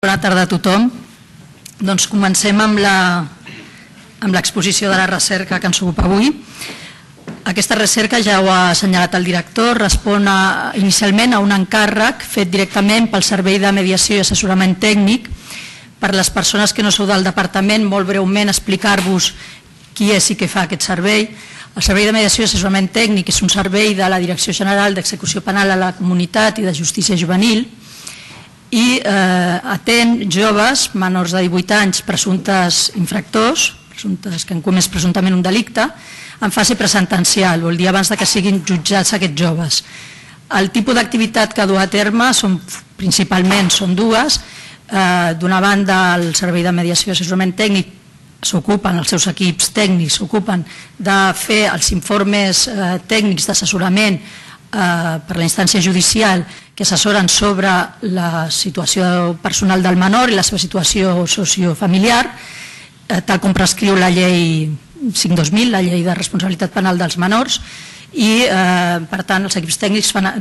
Bona tarda a tothom. Doncs comencem amb l'exposició de la recerca que ens ocupa avui. Aquesta recerca, ja ho ha assenyalat el director, respon inicialment a un encàrrec fet directament pel Servei de Mediació i Assessorament Tècnic. Per les persones que no sou del departament, molt breument explicar-vos qui és i què fa aquest servei. El Servei de Mediació i Assessorament Tècnic és un servei de la Direcció General d'Execució Penal a la Comunitat i de Justícia Juvenil i atén joves menors de 18 anys presumptes infractors, presumptes que han comès presumptament un delicte, en fase presentencial, vol dir abans que siguin jutjats aquests joves. El tipus d'activitat que du a terme principalment són dues. D'una banda, el Servei de Mediació i Assessorament Tècnic s'ocupen, els seus equips tècnics s'ocupen de fer els informes tècnics d'assessorament per la instància judicial que assessoren sobre la situació personal del menor i la seva situació sociofamiliar, tal com prescriu la llei 5/2000, la llei de responsabilitat penal dels menors, i per tant els equips tècnics fan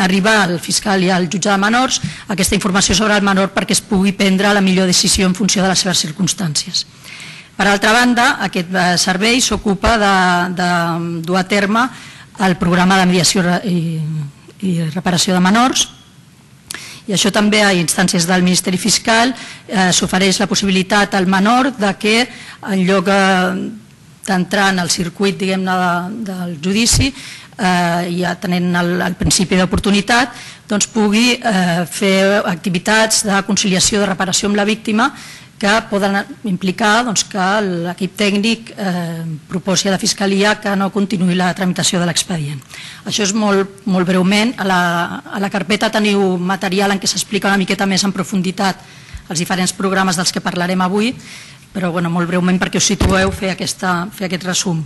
arribar al fiscal i al jutge de menors aquesta informació sobre el menor perquè es pugui prendre la millor decisió en funció de les seves circumstàncies. Per altra banda, aquest servei s'ocupa de dur a terme el programa de mediació i reparació de menors, i això també a instàncies del Ministeri Fiscal s'ofereix la possibilitat al menor que en lloc d'entrar en el circuit del judici, ja tenint el principi d'oportunitat, pugui fer activitats de conciliació de reparació amb la víctima que poden implicar que l'equip tècnic proposi a la Fiscalia que no continuï la tramitació de l'expedient. Això és molt breument. A la carpeta teniu material en què s'explica una miqueta més en profunditat els diferents programes dels que parlarem avui, però molt breument perquè us situeu fer aquest resum.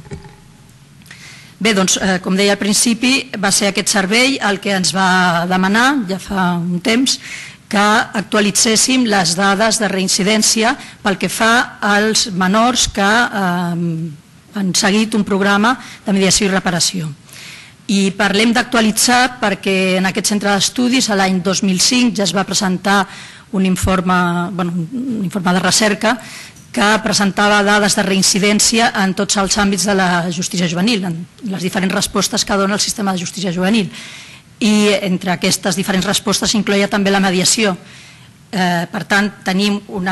Bé, doncs, com deia al principi, va ser aquest servei el que ens va demanar ja fa un temps que actualitzéssim les dades de reincidència pel que fa als menors que han seguit un programa de mediació i reparació. I parlem d'actualitzar perquè en aquest centre d'estudis l'any 2005 ja es va presentar un informe de recerca que presentava dades de reincidència en tots els àmbits de la justícia juvenil, en les diferents respostes que dona el sistema de justícia juvenil. I entre aquestes diferents respostes s'incloïa també la mediació. Per tant, tenim un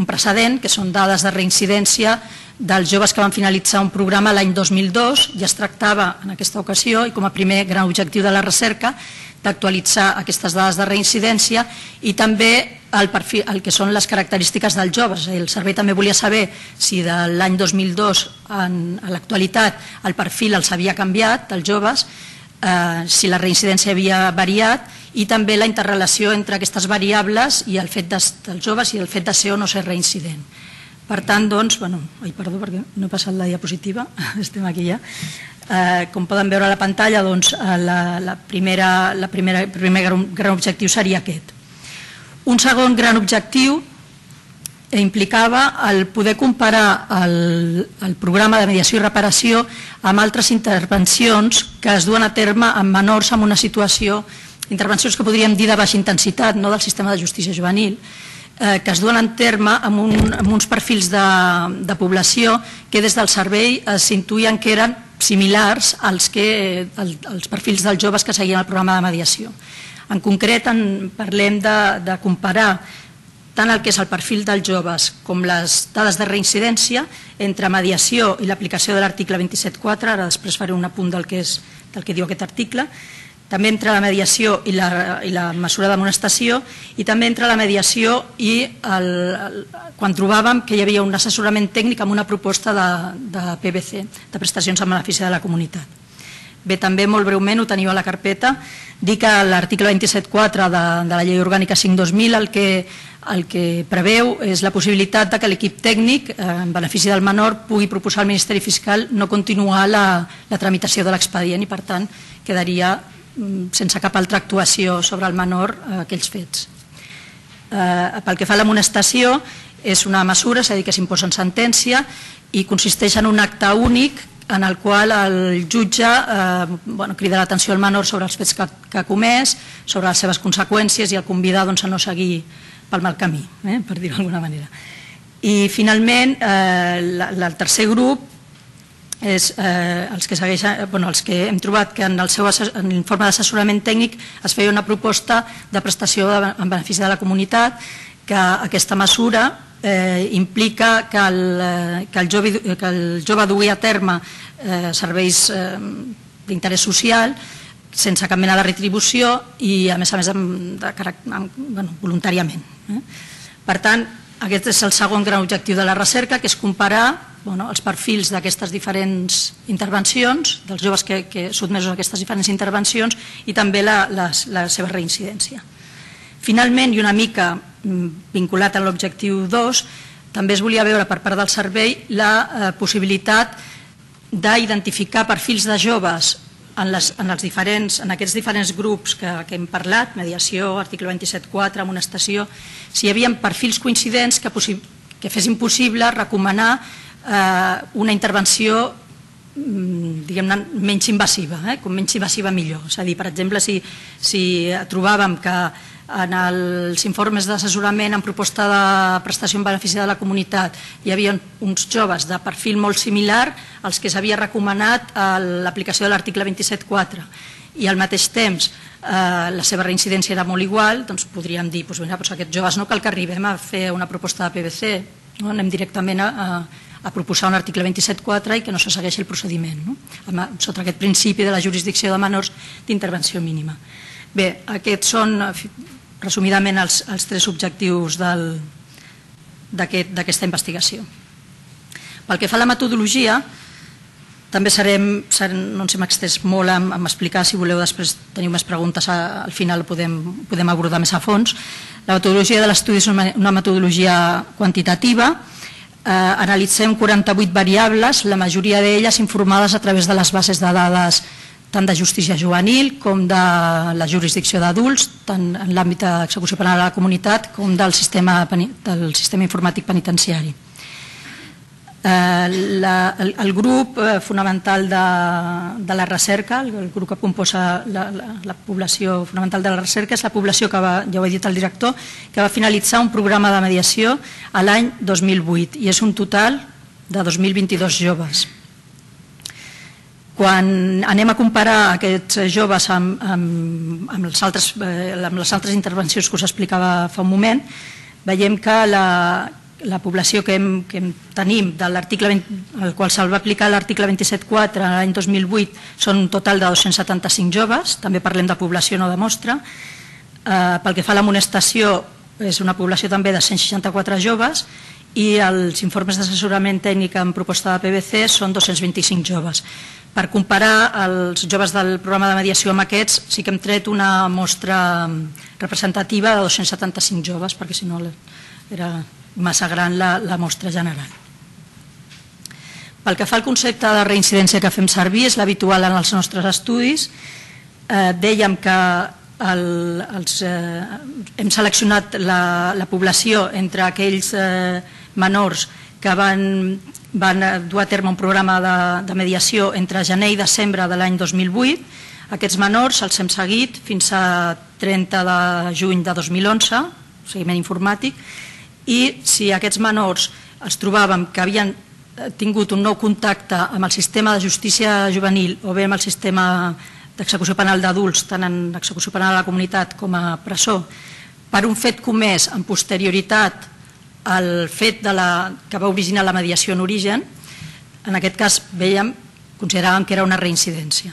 precedent, que són dades de reincidència dels joves que van finalitzar un programa l'any 2002, i es tractava en aquesta ocasió, i com a primer gran objectiu de la recerca, d'actualitzar aquestes dades de reincidència i també el que són les característiques dels joves. El servei també volia saber si de l'any 2002 a l'actualitat el perfil els havia canviat, dels joves, si la reincidència havia variat, i també la interrelació entre aquestes variables i el fet dels joves i el fet de ser o no ser reincident. Per tant, doncs, perdó perquè no he passat la diapositiva, estem aquí ja. Com poden veure a la pantalla, el primer gran objectiu seria aquest. Un segon gran objectiu implicava el poder comparar el programa de mediació i reparació amb altres intervencions que es duen a terme amb menors en una situació, intervencions que podríem dir de baixa intensitat, no del sistema de justícia juvenil, que es duen a terme amb uns perfils de població que des del servei s'intuïen que eren similars als perfils dels joves que seguien el programa de mediació. En concret, parlem de comparar tant el que és el perfil dels joves com les dades de reincidència entre mediació i l'aplicació de l'article 27.4, ara després faré un apunt del que diu aquest article, també entre la mediació i la mesura d'amonestació, i també entre la mediació i quan trobàvem que hi havia un assessorament tècnic amb una proposta de PBC, de prestacions en benefici de la comunitat. Bé, també molt breument, ho teniu a la carpeta, dir que l'article 27.4 de la llei orgànica 5/2000 el que preveu és la possibilitat que l'equip tècnic, en benefici del menor, pugui proposar al Ministeri Fiscal no continuar la tramitació de l'expedient i, per tant, quedaria sense cap altra actuació sobre el menor aquells fets. Pel que fa a l'amonestació, és una mesura, és a dir, que s'imposa en sentència i consisteix en un acte únic en el qual el jutge crida l'atenció al menor sobre els fets que ha comès, sobre les seves conseqüències i el convida a no seguir pel mal camí, per dir-ho d'alguna manera. I finalment, el tercer grup és els que hem trobat que en l'informe d'assessorament tècnic es feia una proposta de prestació en benefici de la comunitat, que aquesta mesura implica que el jove dugui a terme serveis d'interès social sense cap mena de retribució i a més voluntàriament. Per tant, aquest és el segon gran objectiu de la recerca, que és comparar els perfils d'aquestes diferents intervencions, dels joves que sotmesos a aquestes diferents intervencions i també la seva reincidència. Finalment, i una mica vinculat a l'objectiu 2, també es volia veure per part del servei la possibilitat d'identificar perfils de joves en aquests diferents grups que hem parlat, mediació, article 27.4, amonestació, si hi havia perfils coincidents que fessin possible recomanar una intervenció diguem-ne menys invasiva, com menys invasiva millor. És a dir, per exemple, si trobàvem que en els informes d'assessorament en proposta de prestació en benefici de la comunitat hi havia uns joves de perfil molt similar als que s'havia recomanat l'aplicació de l'article 27.4 i al mateix temps la seva reincidència era molt igual, doncs podríem dir aquests joves no cal que arribem a fer una proposta de PBC, anem directament a proposar un article 27.4 i que no se segueixi el procediment, sota aquest principi de la jurisdicció de menors d'intervenció mínima. Bé, aquests són resumidament els tres objectius d'aquesta investigació. Pel que fa a la metodologia, també no ens hem extès molt en explicar, si voleu després teniu més preguntes al final podem abordar més a fons. La metodologia de l'estudi és una metodologia quantitativa, analitzem 48 variables, la majoria d'elles informades a través de les bases de dades tant de justícia juvenil com de la jurisdicció d'adults, tant en l'àmbit d'execució penal a la comunitat com del sistema informàtic penitenciari. El grup fonamental de la recerca, el grup que composa la població fonamental de la recerca és la població que ja ho ha dit el director, que va finalitzar un programa de mediació a l'any 2008 i és un total de 2.022 joves. Quan anem a comparar aquests joves amb les altres intervencions que us explicava fa un moment, veiem que la població que tenim, al qual se'l va aplicar l'article 27.4 l'any 2008, són un total de 275 joves, també parlem de població, no de mostra. Pel que fa a l'amonestació, és una població també de 164 joves i els informes d'assessorament tècnic en proposta de PBC són 225 joves. Per comparar els joves del programa de mediació amb aquests, sí que hem tret una mostra representativa de 275 joves, perquè si no era massa gran la mostra general. Pel que fa al concepte de reincidència que fem servir, és l'habitual en els nostres estudis. Dèiem que hem seleccionat la població entre aquells menors que van dur a terme un programa de mediació entre gener i desembre de l'any 2008. Aquests menors els hem seguit fins a 30 de juny de 2011, seguiment informàtic, i si aquests menors els trobàvem que havien tingut un nou contacte amb el sistema de justícia juvenil o bé amb el sistema d'execució penal d'adults, tant en execució penal a la comunitat com a presó, per un fet comès amb posterioritat al fet que va originar la mediació en origen, en aquest cas consideràvem que era una reincidència.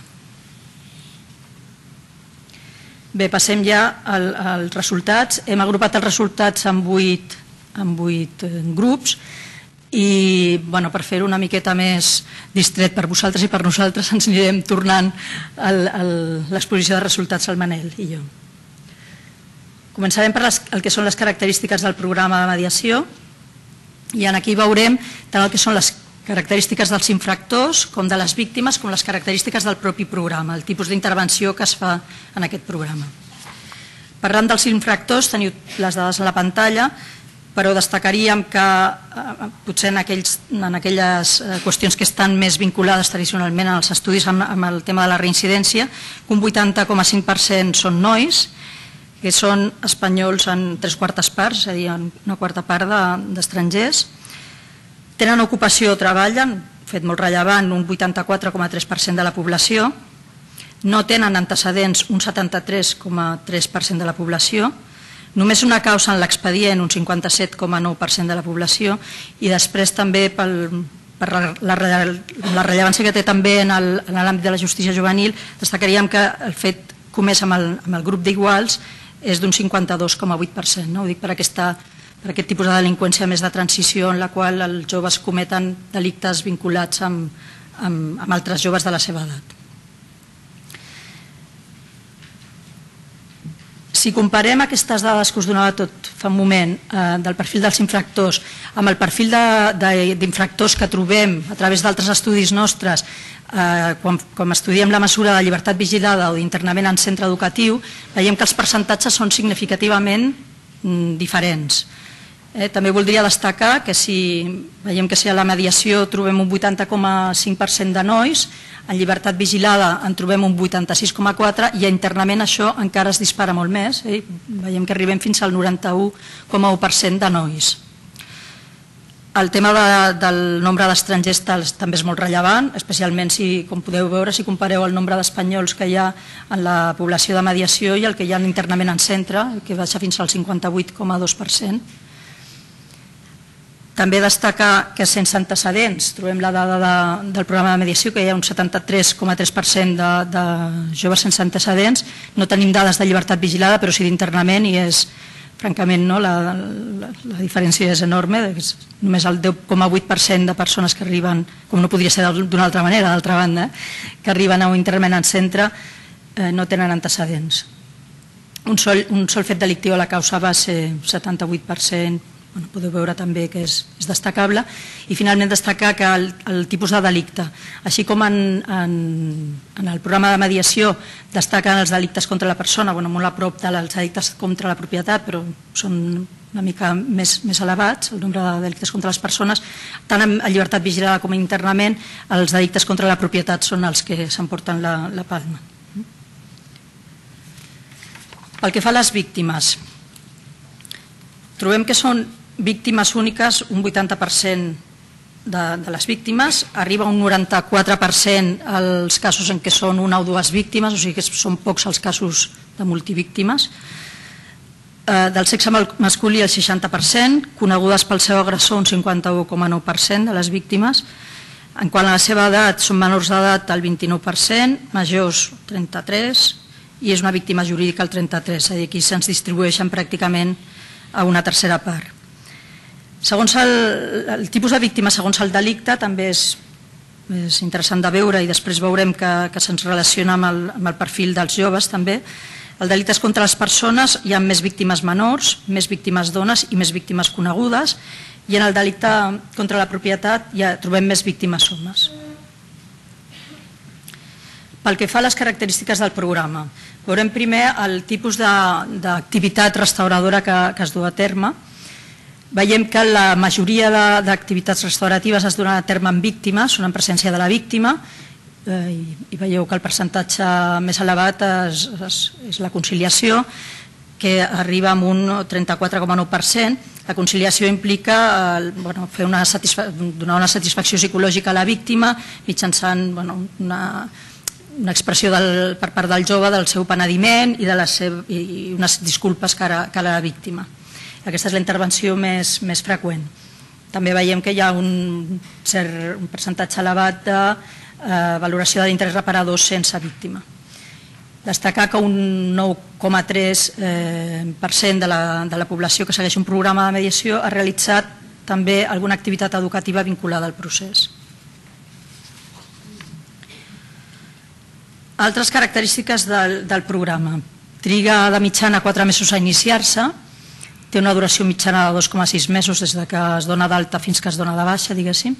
Bé, passem ja als resultats. Hem agrupat els resultats en 8 grups i per fer-ho una miqueta més distret per vosaltres i per nosaltres ens anirem tornant a l'exposició de resultats al Manel i jo. Començarem per el que són les característiques del programa de mediació i aquí veurem tant el que són les característiques dels infractors com de les víctimes com les característiques del propi programa, el tipus d'intervenció que es fa en aquest programa. Parlant dels infractors, teniu les dades a la pantalla. però destacaríem que potser en aquelles qüestions que estan més vinculades tradicionalment als estudis amb el tema de la reincidència, que un 80,5% són nois, que són espanyols en 3/4 parts, és a dir, en una quarta part d'estrangers. Tenen ocupació o treballen, fet molt rellevant, un 84,3% de la població. No tenen antecedents, un 73,3% de la població. Només una causa en l'expedient, un 57,9% de la població, i després també per la rellevància que té també en l'àmbit de la justícia juvenil, destacaríem que el fet comès amb el grup d'iguals és d'un 52,8%. Ho dic per aquest tipus de delinqüència més de transició en la qual els joves cometen delictes vinculats amb altres joves de la seva edat. Si comparem aquestes dades que us donava tot fa un moment del perfil dels infractors amb el perfil d'infractors que trobem a través d'altres estudis nostres quan estudiem la mesura de llibertat vigilada o d'internament en centre educatiu, veiem que els percentatges són significativament diferents. També voldria destacar que veiem que si a la mediació trobem un 80,5% de nois, en llibertat vigilada en trobem un 86,4% i a internament això encara es dispara molt més. Veiem que arribem fins al 91,1% de nois. El tema del nombre d'estrangers també és molt rellevant, especialment si, com podeu veure, si compareu el nombre d'espanyols que hi ha en la població de mediació i el que hi ha internament en centre, que baixa fins al 58,2%. També destacar que sense antecedents, trobem la dada del programa de mediació, que hi ha un 73,3% de joves sense antecedents. No tenim dades de llibertat vigilada, però sí d'internament, i és, francament, la diferència és enorme. Només el 10,8% de persones que arriben, com no podria ser d'una altra manera, d'altra banda, que arriben a un internament en centre, no tenen antecedents. Un sol fet delictiu a la causa base, 78%, podeu veure també que és destacable. I finalment destacar que el tipus de delicte, així com en el programa de mediació destaquen els delictes contra la persona, molt a prop dels delictes contra la propietat, però són una mica més elevats, el nombre de delictes contra les persones, tant en llibertat vigilada com internament, els delictes contra la propietat són els que s'emporten la palma. Pel que fa a les víctimes, trobem que són víctimes úniques, un 80% de les víctimes, arriba un 94% als casos en què són una o dues víctimes, o sigui que són pocs els casos de multivíctimes. Del sexe masculí el 60%, conegudes pel seu agressor un 51,9% de les víctimes. En quant a la seva edat, són menors d'edat el 29%, majors 33%, i és una víctima jurídica el 33%, és a dir, aquí se'ns distribueixen pràcticament a una tercera part. Segons el tipus de víctima, segons el delicte, també és interessant de veure, i després veurem que se'ns relaciona amb el perfil dels joves també. El delicte és contra les persones, hi ha més víctimes menors, més víctimes dones i més víctimes conegudes, i en el delicte contra la propietat ja trobem més víctimes homes. Pel que fa a les característiques del programa, veurem primer el tipus d'activitat restauradora que es du a terme. Veiem que la majoria d'activitats restauratives es donen a terme amb víctimes, són en presència de la víctima, i veieu que el percentatge més elevat és la conciliació, que arriba a un 34,9%. La conciliació implica donar una satisfacció psicològica a la víctima mitjançant una expressió per part del jove del seu penediment i unes disculpes cara a la víctima. Aquesta és la intervenció més freqüent. També veiem que hi ha un percentatge elevat de valoració de l'interès reparador sense víctima. Destacar que un 9,3% de la població que segueix un programa de mediació ha realitzat també alguna activitat educativa vinculada al procés. Altres característiques del programa. Triga de mitjana 4 mesos a iniciar-se, té una duració mitjana de 2,6 mesos des que es dona d'alta fins que es dona de baixa, diguéssim.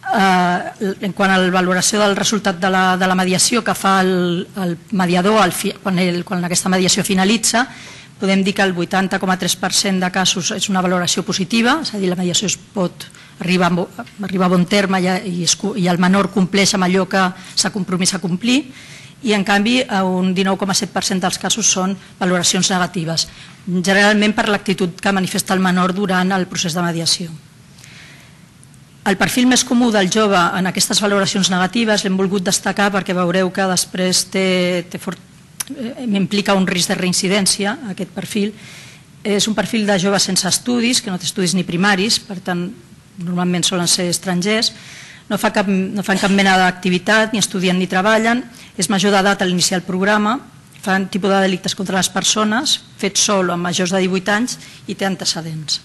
En quant a la valoració del resultat de la mediació que fa el mediador quan aquesta mediació finalitza, podem dir que el 80,3% de casos és una valoració positiva, és a dir, la mediació es pot arribar a bon terme i el menor compleix amb allò que s'ha compromès a complir, i en canvi un 19,7% dels casos són valoracions negatives, generalment per l'actitud que manifesta el menor durant el procés de mediació. El perfil més comú del jove en aquestes valoracions negatives l'hem volgut destacar perquè veureu que després implica un risc de reincidència, aquest perfil. És un perfil de jove sense estudis, que no té estudis ni primaris, per tant, normalment solen ser estrangers, no fan cap mena d'activitat, ni estudien ni treballen, és major d'edat a l'iniciar el programa, fan tipus de delictes contra les persones, fet sol o amb majors de 18 anys i té antecedents.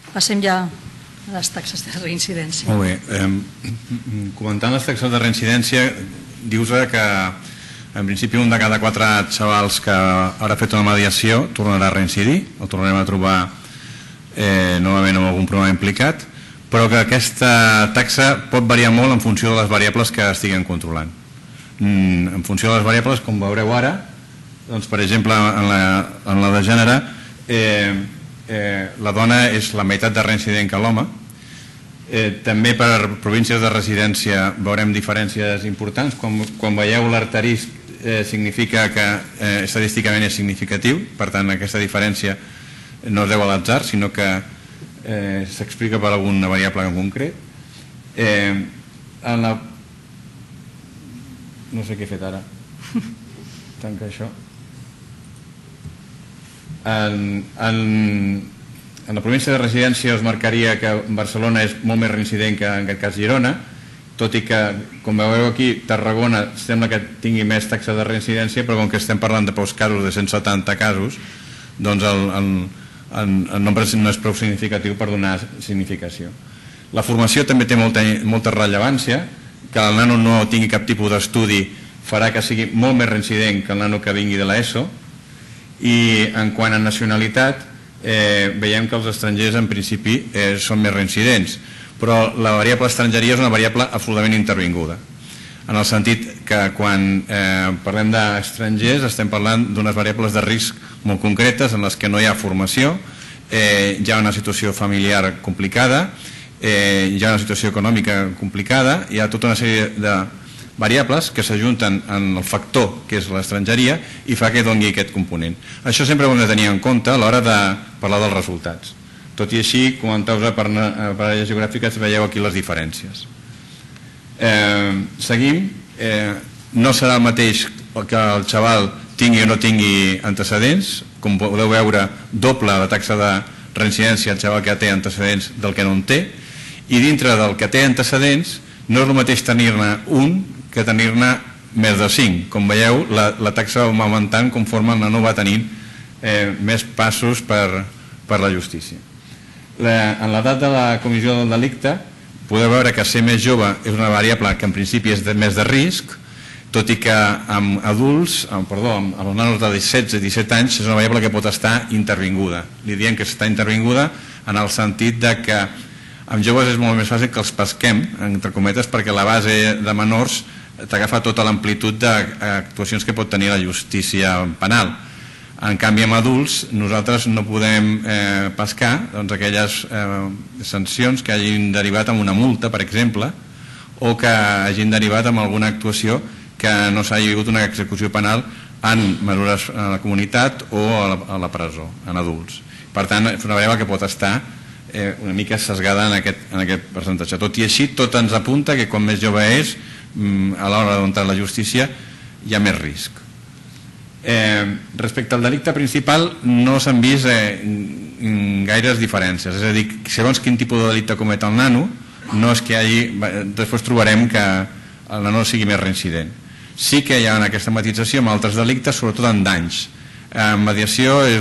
Passem ja a les taxes de reincidència. Molt bé. Comentant les taxes de reincidència, dius que en principi un de cada 4 xavals que haurà fet una mediació tornarà a reincidir, o tornarem a trobar novament amb algun problema implicat, però que aquesta taxa pot variar molt en funció de les variables que estiguem controlant. En funció de les variables, com veureu ara, doncs, per exemple, en la de gènere, la dona és la meitat de reincident que l'home. També per províncies de residència veurem diferències importants. Quan veieu l'arterisc significa que estadísticament és significatiu, per tant aquesta diferència no es deu a l'atzar, sinó que s'explica per alguna variable en concret. No sé què he fet ara. Tanca això. En la província de residència es marcaria que Barcelona és molt més reincident que en aquest cas Girona, tot i que, com veureu aquí, Tarragona sembla que tingui més taxa de reincidència, però com que estem parlant de pocs casos, de 170 casos, doncs el nombre no és prou significatiu per donar significació. La formació també té molta rellevància, que el nano no tingui cap tipus d'estudi farà que sigui molt més reincident que el nano que vingui de l'ESO, i en quant a nacionalitat veiem que els estrangers en principi són més reincidents, però la variable estrangeria és una variable absolutament intervinguda, en el sentit que quan parlem d'estrangers estem parlant d'unes variables de risc molt concretes en les que no hi ha formació, hi ha una situació familiar complicada, hi ha una situació econòmica complicada, hi ha tota una sèrie de variables que s'ajunten en el factor que és l'estrangeria i fa que doni aquest component. Això sempre ho hem de tenir en compte a l'hora de parlar dels resultats. Tot i així, comenteu-vos per àrees geogràfiques, veieu aquí les diferències. Seguim. No serà el mateix que el xaval tingui o no tingui antecedents. Com podeu veure, doble la taxa de reincidència el xaval que té antecedents del que no en té. I dintre del que té antecedents, no és el mateix tenir-ne un que tenir-ne més de 5. Com veieu, la taxa va augmentant conforme el nano va tenint més passos per la justícia. En l'edat de la comissió del delicte podeu veure que ser més jove és una variable que en principi és més de risc, tot i que amb adults, amb els nanos de 16 i 17 anys és una variable que pot estar intervinguda. Li diem que està intervinguda en el sentit que amb joves és molt més fàcil que els pesquem, entre cometes, perquè la base de menors t'agafa tota l'amplitud d'actuacions que pot tenir la justícia penal. En canvi, amb adults, nosaltres no podem pescar aquelles sancions que hagin derivat amb una multa, per exemple, o que hagin derivat amb alguna actuació que no s'hagi hagut una execució penal en mesures a la comunitat o a la presó, en adults. Per tant, és una variable que pot estar una mica sesgada en aquest percentatge. Tot i així, tot ens apunta que quan més jove és, a l'hora d'entrar a la justícia hi ha més risc. Respecte al delicte principal no s'han vist gaires diferències, és a dir, segons quin tipus de delicte comet el nano, no és que hi hagi, després trobarem que el nano sigui més reincident. Sí que hi ha aquesta matització amb altres delictes, sobretot en danys. Mediació és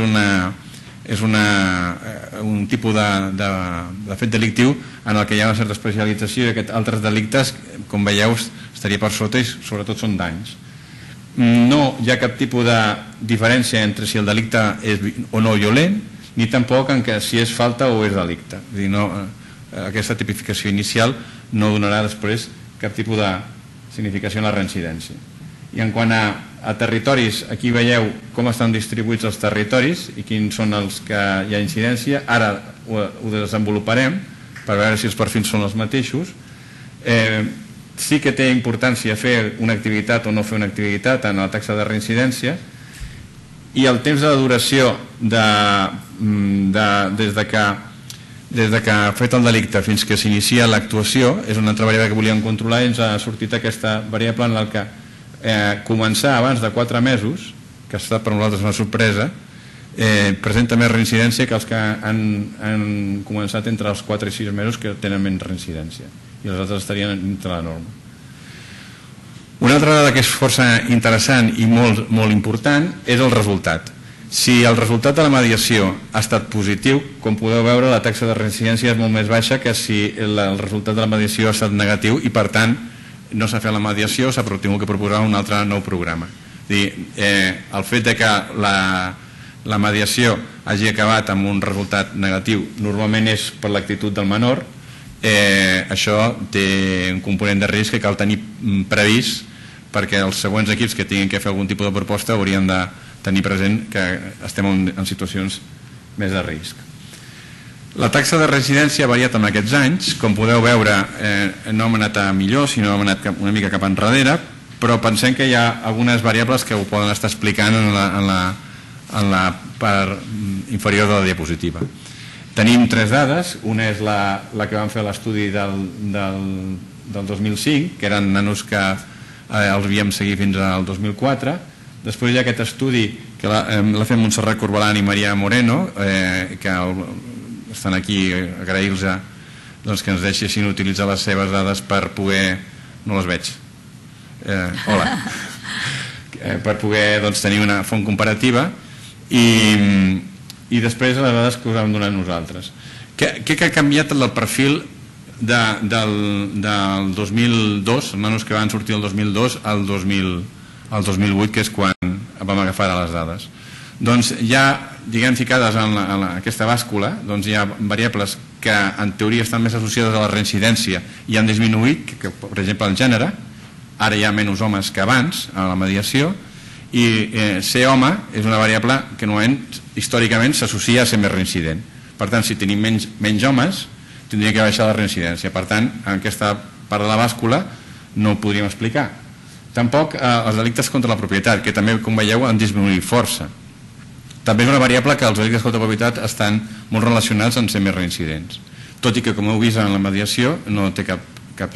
un tipus de fet delictiu en el que hi ha una certa especialització i aquests altres delictes, com veieu, estaria per sota i sobretot són danys. No hi ha cap tipus de diferència entre si el delicte és o no violent, ni tampoc en si és falta o és delicte. És a dir, aquesta tipificació inicial no donarà després cap tipus de significació en la reincidència. I en quant a territoris, aquí veieu com estan distribuïts els territoris i quins són els que hi ha incidència. Ara ho desenvoluparem per veure si els perfils són els mateixos. Sí que té importància fer una activitat o no fer una activitat en la taxa de reincidència, i el temps de duració des de que ha fet el delicte fins que s'inicia l'actuació és una altra variable que volíem controlar, i ens ha sortit aquesta variable en la que començar abans de 4 mesos, que ha estat per nosaltres una sorpresa, presenta més reincidència que els que han començat entre els 4 i 6 mesos, que tenen menys reincidència, i els altres estarien dintre la norma. Una altra dada que és força interessant i molt important és el resultat. Si el resultat de la mediació ha estat positiu, com podeu veure, la taxa de reincidència és molt més baixa que si el resultat de la mediació ha estat negatiu, i per tant no s'ha fet la mediació, s'ha tingut que proposar un altre nou programa. El fet de que la mediació hagi acabat amb un resultat negatiu normalment és per l'actitud del menor. Això té un component de risc que cal tenir previst, perquè els següents equips que tinguin que fer algun tipus de proposta haurien de tenir present que estem en situacions més de risc. La taxa de residència ha variat en aquests anys. Com podeu veure, no hem anat a millor, sinó hem anat una mica cap enrere, però pensem que hi ha algunes variables que ho poden estar explicant en la part inferior de la diapositiva. Tenim 3 dades. Una és la que vam fer l'estudi del 2005, que eren nanos que els havíem seguit fins al 2004. Després hi ha aquest estudi que l'ha fet Montserrat Corbalan i Maria Moreno, que estan aquí, agrair-los que ens deixessin utilitzar les seves dades per poder... No les veig. Hola. Per poder tenir una font comparativa, i després les dades que us hem donat nosaltres. Què ha canviat el perfil del 2002, els nanos que van sortir el 2002 al 2008, que és quan vam agafar les dades? Doncs ja, ficades en aquesta bàscula, hi ha variables que en teoria estan més associades a la reincidència i han disminuït, per exemple el gènere. Ara hi ha menys homes que abans a la mediació, i ser home és una variable que històricament s'associa a ser més reincident. Per tant, si tenim menys homes, tindria que baixar la reincidència. Per tant, en aquesta part de la bàscula no ho podríem explicar. Tampoc els delictes contra la propietat, que també, com veieu, han disminuït força. També és una variable que els delictes contra la propietat estan molt relacionats amb ser més reincidents, tot i que, com heu vist en la mediació, no té cap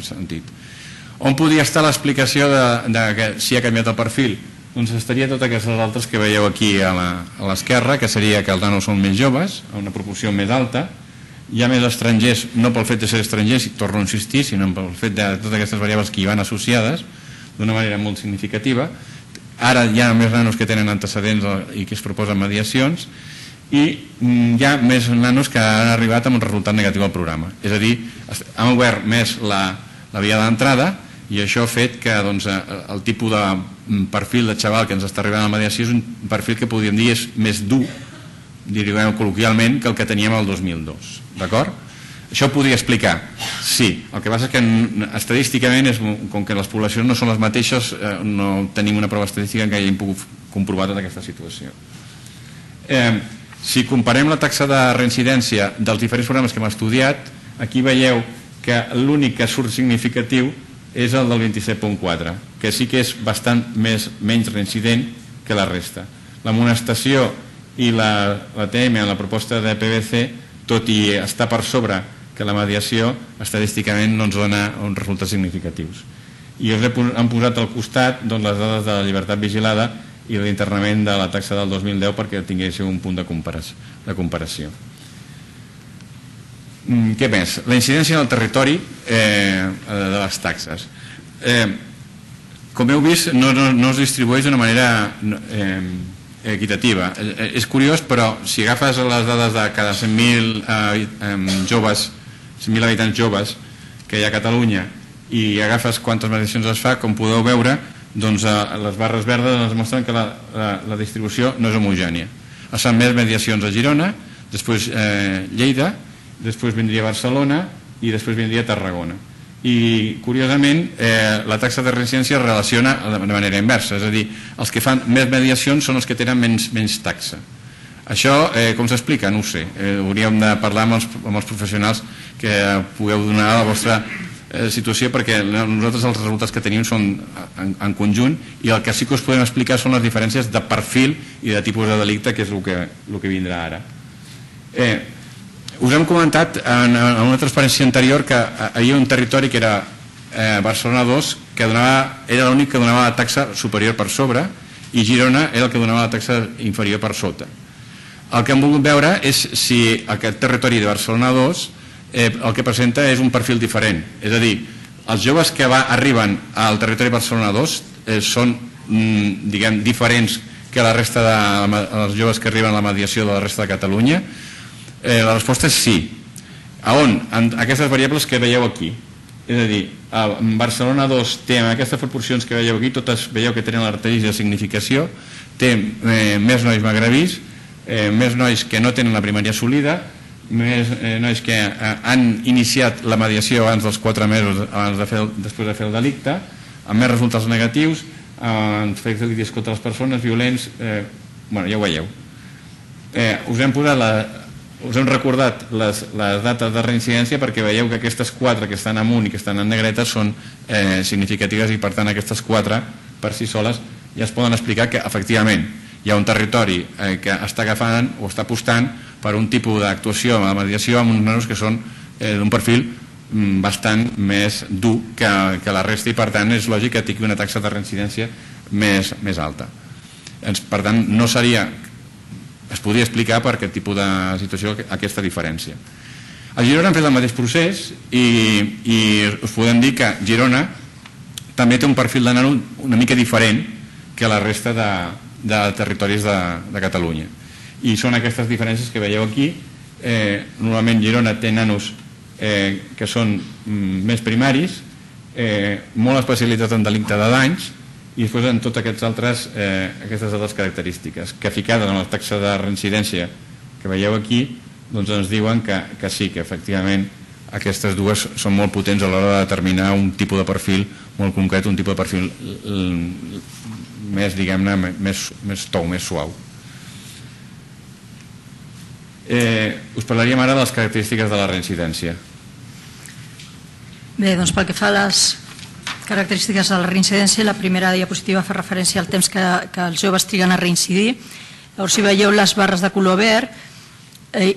sentit. On podria estar l'explicació de que si ha canviat el perfil? Doncs estaria totes aquestes altres que veieu aquí a l'esquerra, que seria que els nanos són més joves, a una proporció més alta, hi ha més estrangers, no pel fet de ser estrangers, torno a insistir, sinó pel fet de totes aquestes variables que hi van associades d'una manera molt significativa. Ara hi ha més nanos que tenen antecedents i que es proposen mediacions, i hi ha més nanos que han arribat amb un resultat negatiu al programa. És a dir, han obert més la via d'entrada, i això ha fet que el tipus de perfil de xaval que ens està arribant a la mediació és un perfil que podríem dir és més dur, diríem col·loquialment, que el que teníem el 2002. D'acord? Això ho podria explicar? Sí. El que passa és que estadísticament, com que les poblacions no són les mateixes, no tenim una prova estadística en què hàgim pogut comprovar tota aquesta situació. Si comparem la taxa de reincidència dels diferents programes que hem estudiat, aquí veieu que l'únic que surt significatiu és el del 27.4, que sí que és bastant menys reincident que la resta. L'amonestació i la TM en la proposta de PBC, tot i estar per sobre que la mediació, estadísticament no ens dona uns resultats significatius. I us hem posat al costat les dades de la llibertat vigilada i l'internament de la taxa del 2010 perquè tinguéssiu un punt de comparació. Què més? La incidència en el territori de les taxes. Com heu vist, no es distribueix d'una manera equitativa. És curiós, però si agafes les dades de cada 100.000 joves, 100.000 habitants joves que hi ha a Catalunya, i agafes quantes mediacions es fa, com podeu veure, les barres verdes ens mostren que la distribució no és homogènia. Es fan més mediacions a Girona, després Lleida, després vindria Barcelona i després vindria Tarragona. i curiosament la taxa de reincidència es relaciona de manera inversa, és a dir, els que fan més mediacions són els que tenen menys taxa. Això com s'explica? No ho sé, hauríem de parlar amb els professionals que pugueu donar la vostra situació, perquè nosaltres els resultats que tenim són en conjunt i el que sí que us podem explicar són les diferències de perfil i de tipus de delicte, que és el que vindrà ara. Us hem comentat en una transparència anterior que hi havia un territori que era Barcelona 2, que era l'únic que donava la taxa superior per sobre, i Girona era el que donava la taxa inferior per sota. El que hem volgut veure és si aquest territori de Barcelona 2 el que presenta és un perfil diferent, és a dir, els joves que arriben al territori de Barcelona 2 són, diguem, diferents que la resta dels joves que arriben a la mediació de la resta de Catalunya. La resposta és sí. A on? En aquestes variables que veieu aquí. És a dir, Barcelona 2 té en aquestes proporcions que veieu aquí, totes veieu que tenen l'artèria de significació, té més nois magrebís, més nois que no tenen la primària assolida, més nois que han iniciat la mediació abans dels 4 mesos després de fer el delicte, amb més resultats negatius, amb fets delictes contra les persones, violents, ja ho veieu. Us hem recordat les dates de reincidència perquè veieu que aquestes 4 que estan amunt i que estan en negreta són significatives i per tant aquestes 4 per si soles ja es poden explicar que efectivament hi ha un territori que està agafant o està apostant per un tipus d'actuació a la mediació amb uns menors que són d'un perfil bastant més dur que la resta i per tant és lògic que tingui una taxa de reincidència més alta. Per tant no seria... es podria explicar per aquest tipus de situació aquesta diferència. A Girona han fet el mateix procés i us podem dir que Girona també té un perfil de nano una mica diferent que la resta de territoris de Catalunya. I són aquestes diferències que veieu aquí. Normalment Girona té nanos que són més primaris, molt especialitzats en delicte de danys, i després en totes aquestes altres característiques que ficades en la taxa de reincidència que veieu aquí doncs ens diuen que sí, que efectivament aquestes dues són molt potents a l'hora de determinar un tipus de perfil molt concret, un tipus de perfil més, diguem-ne, més tou, més suau. Us parlaríem ara de les característiques de la reincidència. Bé, doncs pel que fa a les característiques de la reincidència, la primera diapositiva fa referència al temps que els joves triguen a reincidir. Llavors, si veieu les barres de color verd,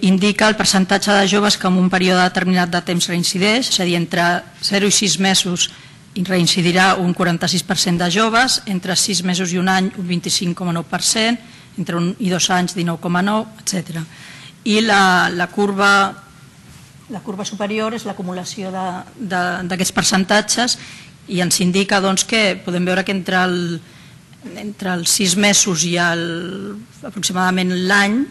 indica el percentatge de joves que en un període determinat de temps reincideix, és a dir, entre 0 i 6 mesos reincidirà un 46% de joves, entre 6 mesos i un any un 25,9%, entre 1 i 2 anys 19,9%, etc. I la curva superior és l'acumulació d'aquests percentatges i ens indica que podem veure que entre els 6 mesos i aproximadament l'any,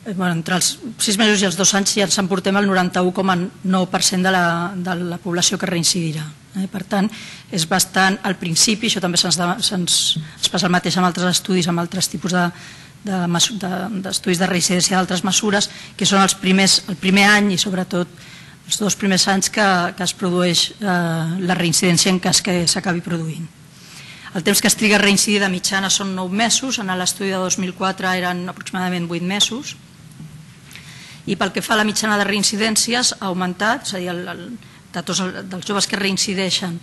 entre els 6 mesos i els 2 anys ja ens emportem el 91,9% de la població que reincidirà. Per tant, és bastant al principi, això també es passa el mateix amb altres estudis, amb altres tipus d'estudis de reincidència d'altres mesures, que són el primer any i sobretot els 2 primers anys que es produeix la reincidència en cas que s'acabi produint. El temps que es triga a reincidir de mitjana són 9 mesos, en l'estudi de 2004 eren aproximadament 8 mesos, i pel que fa a la mitjana de reincidències ha augmentat, és a dir, de tots els joves que reincideixen,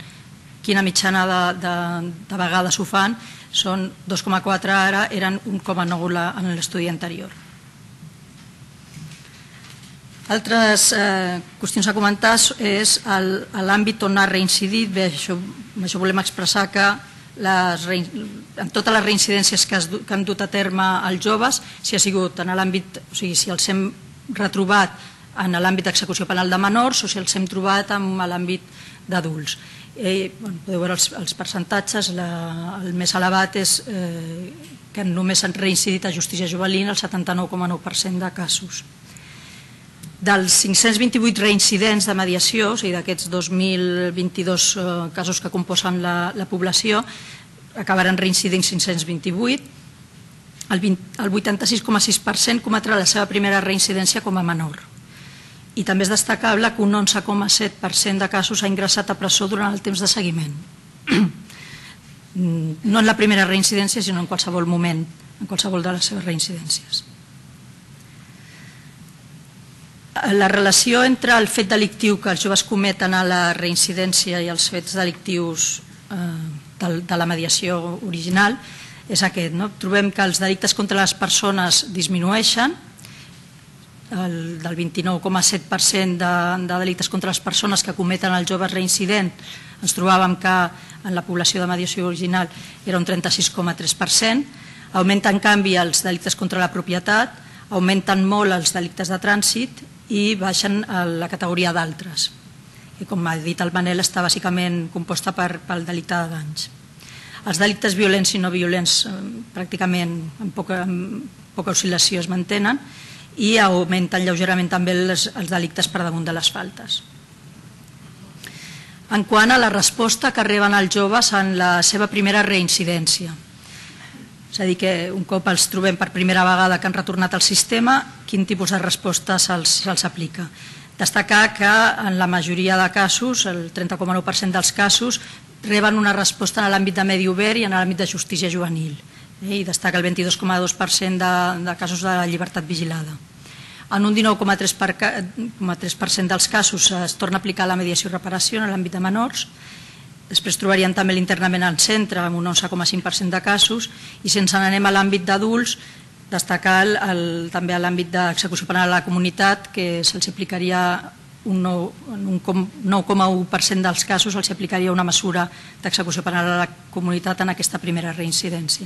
quina mitjana de vegades ho fan, són 2,4 ara, eren 1,9 en l'estudi anterior. Altres qüestions a comentar és l'àmbit on ha reincidit. Bé, això volem expressar que en totes les reincidències que han dut a terme els joves, si ha sigut en l'àmbit, o sigui, si els hem retrobat en l'àmbit d'execució penal de menors o si els hem trobat en l'àmbit d'adults. Podeu veure els percentatges, el més elevat és que només han reincidit a justícia juvenil el 79,9% de casos. Dels 528 reincidents de mediació, o sigui, d'aquests 2.022 casos que composen la població, acabaran reincidint 528, el 86,6% cometrà la seva primera reincidència com a menor I també és destacable que un 11,7% de casos ha ingressat a presó durant el temps de seguiment. No en la primera reincidència, sinó en qualsevol moment, en qualsevol de les seves reincidències. La relació entre el fet delictiu que els joves cometen a la reincidència i els fets delictius de la mediació original és aquest. Trobem que els delictes contra les persones disminueixen, del 29,7% de delictes contra les persones que cometen els joves reincidents, ens trobàvem que en la població de mediació original era un 36,3%, augmenten en canvi els delictes contra la propietat, augmenten molt els delictes de trànsit i baixen a la categoria d'altres. I com ha dit el Manel, està bàsicament composta pel delicte de danys. Els delictes violents i no violents pràcticament amb poca oscil·lació es mantenen i augmenten lleugerament també els delictes per damunt de les faltes. En quant a la resposta que reben els joves en la seva primera reincidència, és a dir, que un cop els trobem per primera vegada que han retornat al sistema, quin tipus de resposta se'ls aplica. Destacar que en la majoria de casos, el 30,9% dels casos, reben una resposta en l'àmbit de medi obert i en l'àmbit de justícia juvenil. I destaca el 22,2% de casos de llibertat vigilada. En un 19,3% dels casos es torna a aplicar la mediació i reparació en l'àmbit de menors. Després trobarien també l'internament al centre, amb un 11,5% de casos, i si ens n'anem a l'àmbit d'adults, destacar també a l'àmbit d'execució penal a la comunitat, que se'ls aplicaria en un 9,1% dels casos se'ls aplicaria una mesura d'execució penal a la comunitat en aquesta primera reincidència.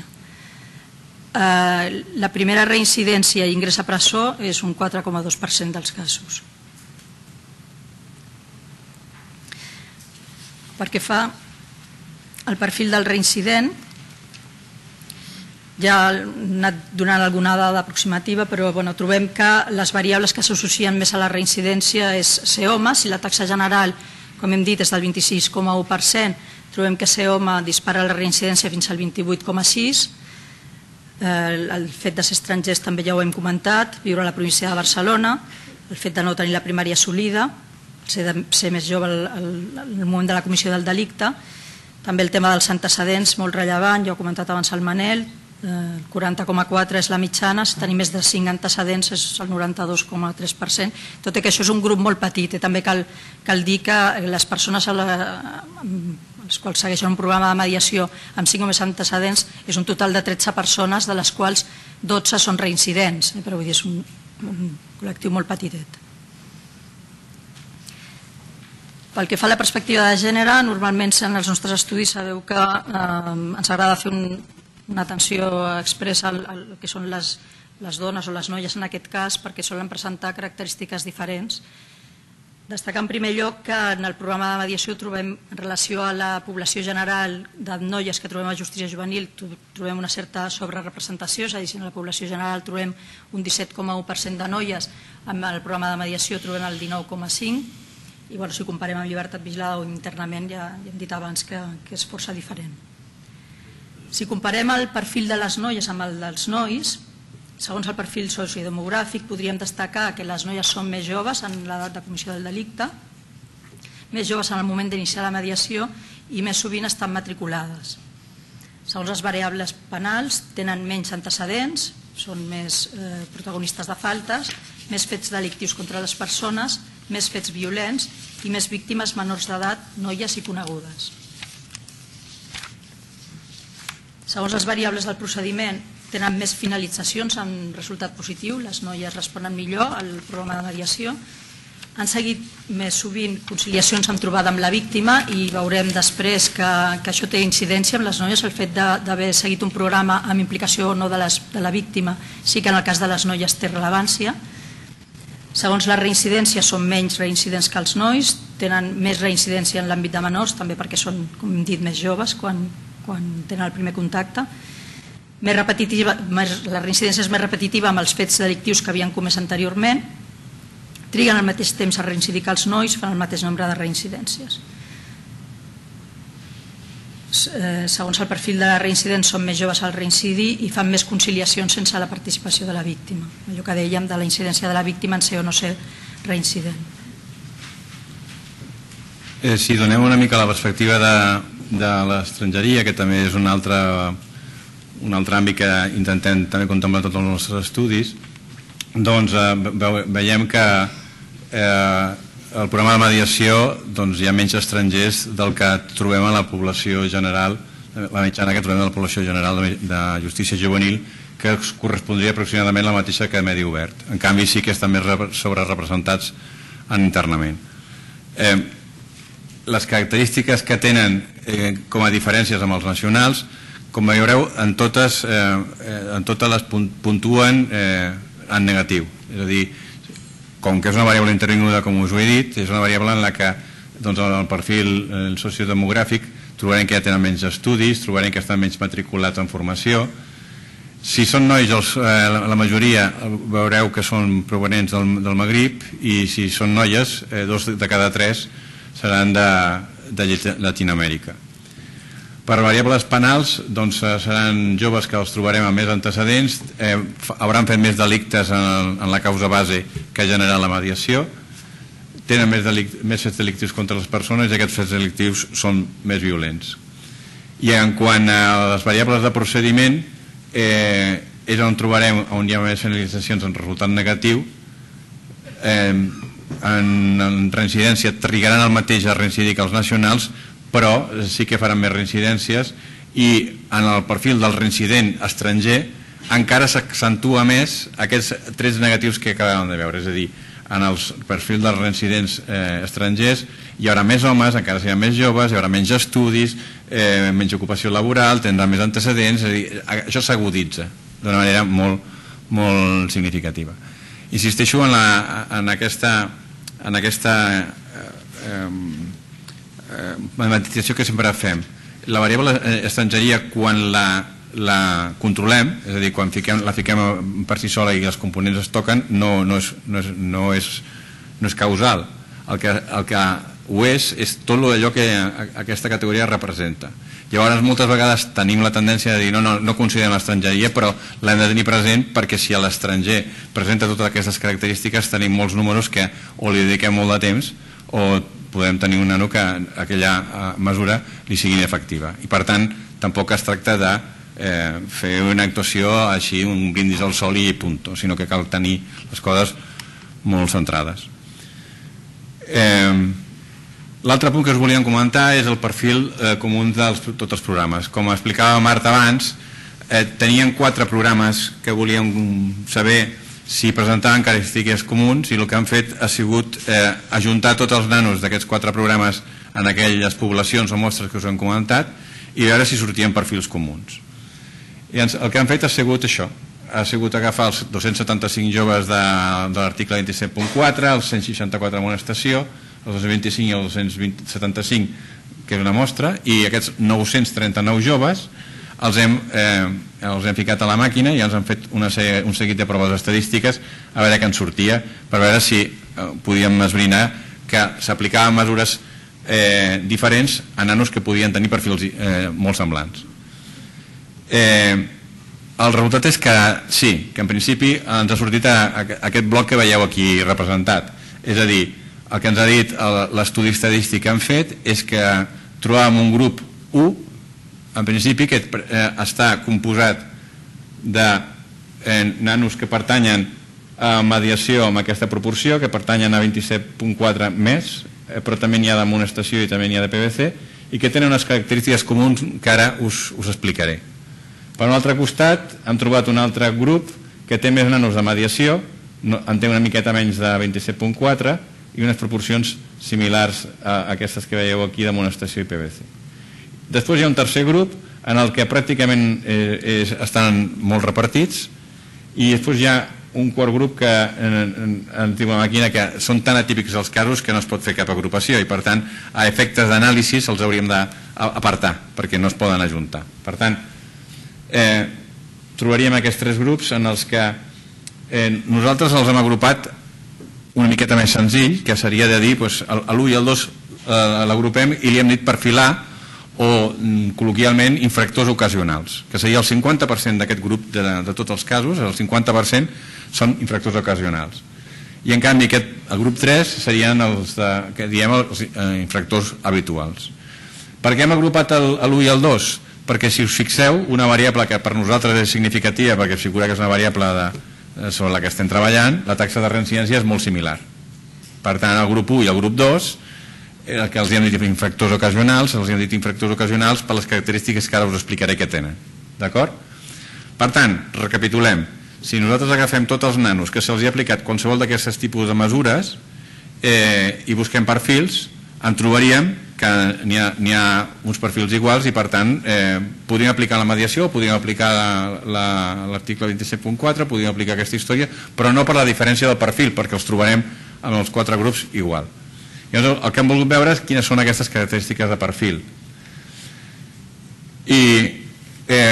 La primera reincidència i ingrés a presó és un 4,2% dels casos. Perquè fa el perfil del reincident, ja he anat donant alguna dada aproximativa, però trobem que les variables que s'associen més a la reincidència és ser home. Si la taxa general, com hem dit, és del 26,1%, trobem que ser home dispara la reincidència fins al 28,6%. El fet de ser estrangers també ja ho hem comentat, viure a la província de Barcelona, el fet de no tenir la primària assolida, ser més jove al moment de la comissió del delicte, també el tema dels antecedents, molt rellevant, ja ho ha comentat abans el Manel, el 40,4% és la mitjana, si tenim més de 5 antecedents és el 92,3%, tot i que això és un grup molt petit. També cal dir que les persones els quals segueixen un programa de mediació amb 5 o més antecedents és un total de 13 persones, de les quals 12 són reincidents, però vull dir, és un col·lectiu molt petitet. Pel que fa a la perspectiva de gènere, normalment en els nostres estudis sabeu que ens agrada fer una atenció expressa al que són les dones o les noies en aquest cas, perquè solen presentar característiques diferents. Destacar en primer lloc que en el programa de mediació trobem, en relació a la població general de noies que trobem a justícia juvenil, trobem una certa sobrerepresentació, és a dir, si en la població general trobem un 17,1% de noies, en el programa de mediació trobem el 19,5%, i si ho comparem amb llibertat vigilada o internament ja hem dit abans que és força diferent. Si comparem el perfil de les noies amb el dels nois, segons el perfil sociodemogràfic, podríem destacar que les noies són més joves en l'edat de comissió del delicte, més joves en el moment d'iniciar la mediació i més sovint estan matriculades. Segons les variables penals, tenen menys antecedents, són més protagonistes de faltes, més fets delictius contra les persones, més fets violents i més víctimes menors d'edat, noies i conegudes. Segons les variables del procediment, tenen més finalitzacions amb resultat positiu, les noies responen millor al programa de mediació, han seguit més sovint conciliacions amb trobada amb la víctima i veurem després que això té incidència amb les noies, el fet d'haver seguit un programa amb implicació o no de la víctima, sí que en el cas de les noies té rellevància. Segons la reincidència, són menys reincidents que els nois, tenen més reincidència en l'àmbit de menors, també perquè són, com hem dit, més joves quan tenen el primer contacte. La reincidència és més repetitiva amb els fets delictius que havien comès anteriorment, triguen al mateix temps a reincidir que els nois, fan el mateix nombre de reincidències. Segons el perfil de la reincident, són més joves al reincidir i fan més conciliacions sense la participació de la víctima. Allò que dèiem de la incidència de la víctima en ser o no ser reincident. Si donem una mica la perspectiva de l'estrangeria, que també és un altre àmbit que intentem també contemplar tots els nostres estudis, doncs veiem que el programa de mediació hi ha menys estrangers del que trobem a la població general, la mitjana que trobem a la població general de justícia juvenil, que correspondria aproximadament la mateixa que a medi obert. En canvi sí que estan més sobrerepresentats internament. Les característiques que tenen com a diferències amb els nacionals, com veureu, en totes les puntuen en negatiu. És a dir, com que és una variable intervinguda, com us ho he dit, és una variable en la que el perfil sociodemogràfic trobarem que ja tenen menys estudis, trobarem que estan menys matriculats en formació. Si són nois, la majoria veureu que són provenents del Magrib, i si són noies, 2 de cada 3 seran de Llatinoamèrica. Per variables penals, seran joves que els trobarem amb més antecedents, hauran fet més delictes en la causa base que ha generat la mediació, tenen més fets delictius contra les persones i aquests fets delictius són més violents. I en quant a les variables de procediment, és on trobarem on hi ha més finalitzacions en resultat negatiu. En reincidència trigaran el mateix a reincidir que els nacionals, però sí que faran més reincidències, i en el perfil del reincident estranger encara s'accentua més aquests trets negatius que acabem de veure. És a dir, en el perfil dels reincidents estrangers hi haurà més homes, encara seran més joves, hi haurà menys estudis, menys ocupació laboral, tindran més antecedents. És a dir, això s'aguditza d'una manera molt significativa. Insisteixo en aquesta matematizació que sempre fem. La variable estrangeria, quan la controlem, és a dir, quan la fiquem per si sola i els components es toquen, no és causal. El que ho és tot allò que aquesta categoria representa. Llavors, moltes vegades tenim la tendència de dir no considerem l'estrangeria, però l'hem de tenir present, perquè si a l'estranger presenta totes aquestes característiques, tenim molts números que o li dediquem molt de temps o podem tenir un nano que aquella mesura li sigui inefectiva. I per tant, tampoc es tracta de fer una actuació així, un brindis al sol i punt, sinó que cal tenir les coses molt centrades. L'altre punt que us volíem comentar és el perfil comú de tots els programes. Com explicava Marta abans, tenien 4 programes que volíem saber si presentaven característiques comuns, i el que han fet ha sigut ajuntar tots els nanos d'aquests 4 programes en aquelles poblacions o mostres que us hem comentat i veure si sortien perfils comuns. I el que han fet ha sigut això, ha sigut agafar els 275 joves de l'article 27.4, els 164 amonestació, els 225 i els 275, que és una mostra, i aquests 939 joves els hem ficat a la màquina i ens han fet un seguit de proves estadístiques a veure què en sortia, per veure si podíem esbrinar que s'aplicaven mesures diferents a nanos que podien tenir perfils molt semblants. El resultat és que sí, que en principi ens ha sortit aquest bloc que veieu aquí representat. És a dir, el que ens ha dit l'estudi estadístic que han fet és que trobàvem un grup 1, en principi, que està composat de nanos que pertanyen a mediació amb aquesta proporció, que pertanyen a 27.4 més, però també n'hi ha d'amonestació i també n'hi ha de PVC, i que tenen unes característiques comuns que ara us explicaré. Per un altre costat, hem trobat un altre grup que té més nanos de mediació, en té una miqueta menys de 27.4 i unes proporcions similars a aquestes que veieu aquí d'amonestació i PVC. Després hi ha un tercer grup en el que pràcticament estan molt repartits, i després hi ha un quart grup que ens diu la màquina que són tan atípics els casos que no es pot fer cap agrupació i per tant a efectes d'anàlisi els hauríem d'apartar perquè no es poden ajuntar. Per tant, trobaríem aquests 3 grups en els que nosaltres els hem agrupat una miqueta més senzill, que seria de dir l'1 i el 2 l'agrupem i li hem dit perfilar o col·loquialment infractors ocasionals, que seria el 50% d'aquest grup de tots els casos, el 50% són infractors ocasionals. i en canvi el grup 3 serien els infractors habituals. Per què hem agrupat l'1 i el 2? Perquè si us fixeu, una variable que per nosaltres és significativa, perquè figura que és una variable sobre la que estem treballant, la taxa de reincidència és molt similar. Per tant, el grup 1 i el grup 2, el que els hem dit infractors ocasionals, els hem dit infractors ocasionals per les característiques que ara us explicaré que tenen. D'acord? Per tant, recapitulem. Si nosaltres agafem tots els nanos que se'ls ha aplicat qualsevol d'aquestes tipus de mesures i busquem perfils, en trobaríem que n'hi ha uns perfils iguals i per tant podríem aplicar la mediació, podríem aplicar l'article 27.4, podríem aplicar aquesta història, però no per la diferència del perfil, perquè els trobarem en els 4 grups igual. Llavors, el que hem volgut veure és quines són aquestes característiques de perfil. I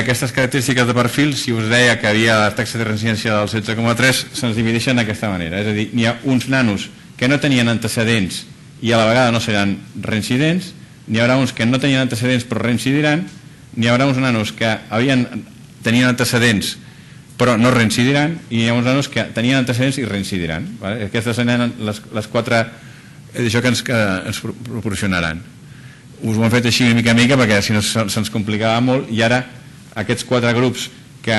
aquestes característiques de perfil, si us deia que havia la taxa de reincidència del 16,3, se'ns divideixen d'aquesta manera. És a dir, n'hi ha uns nanos que no tenien antecedents i a la vegada no seran reincidents, n'hi haurà uns que no tenien antecedents però reincidiran, n'hi haurà uns nanos que tenien antecedents però no reincidiran i hi ha uns nanos que tenien antecedents i reincidiran. Aquestes seran les 4 d'això que ens proporcionaran. Us ho hem fet així mica a mica perquè si no se'ns complicava molt i ara aquests 4 grups que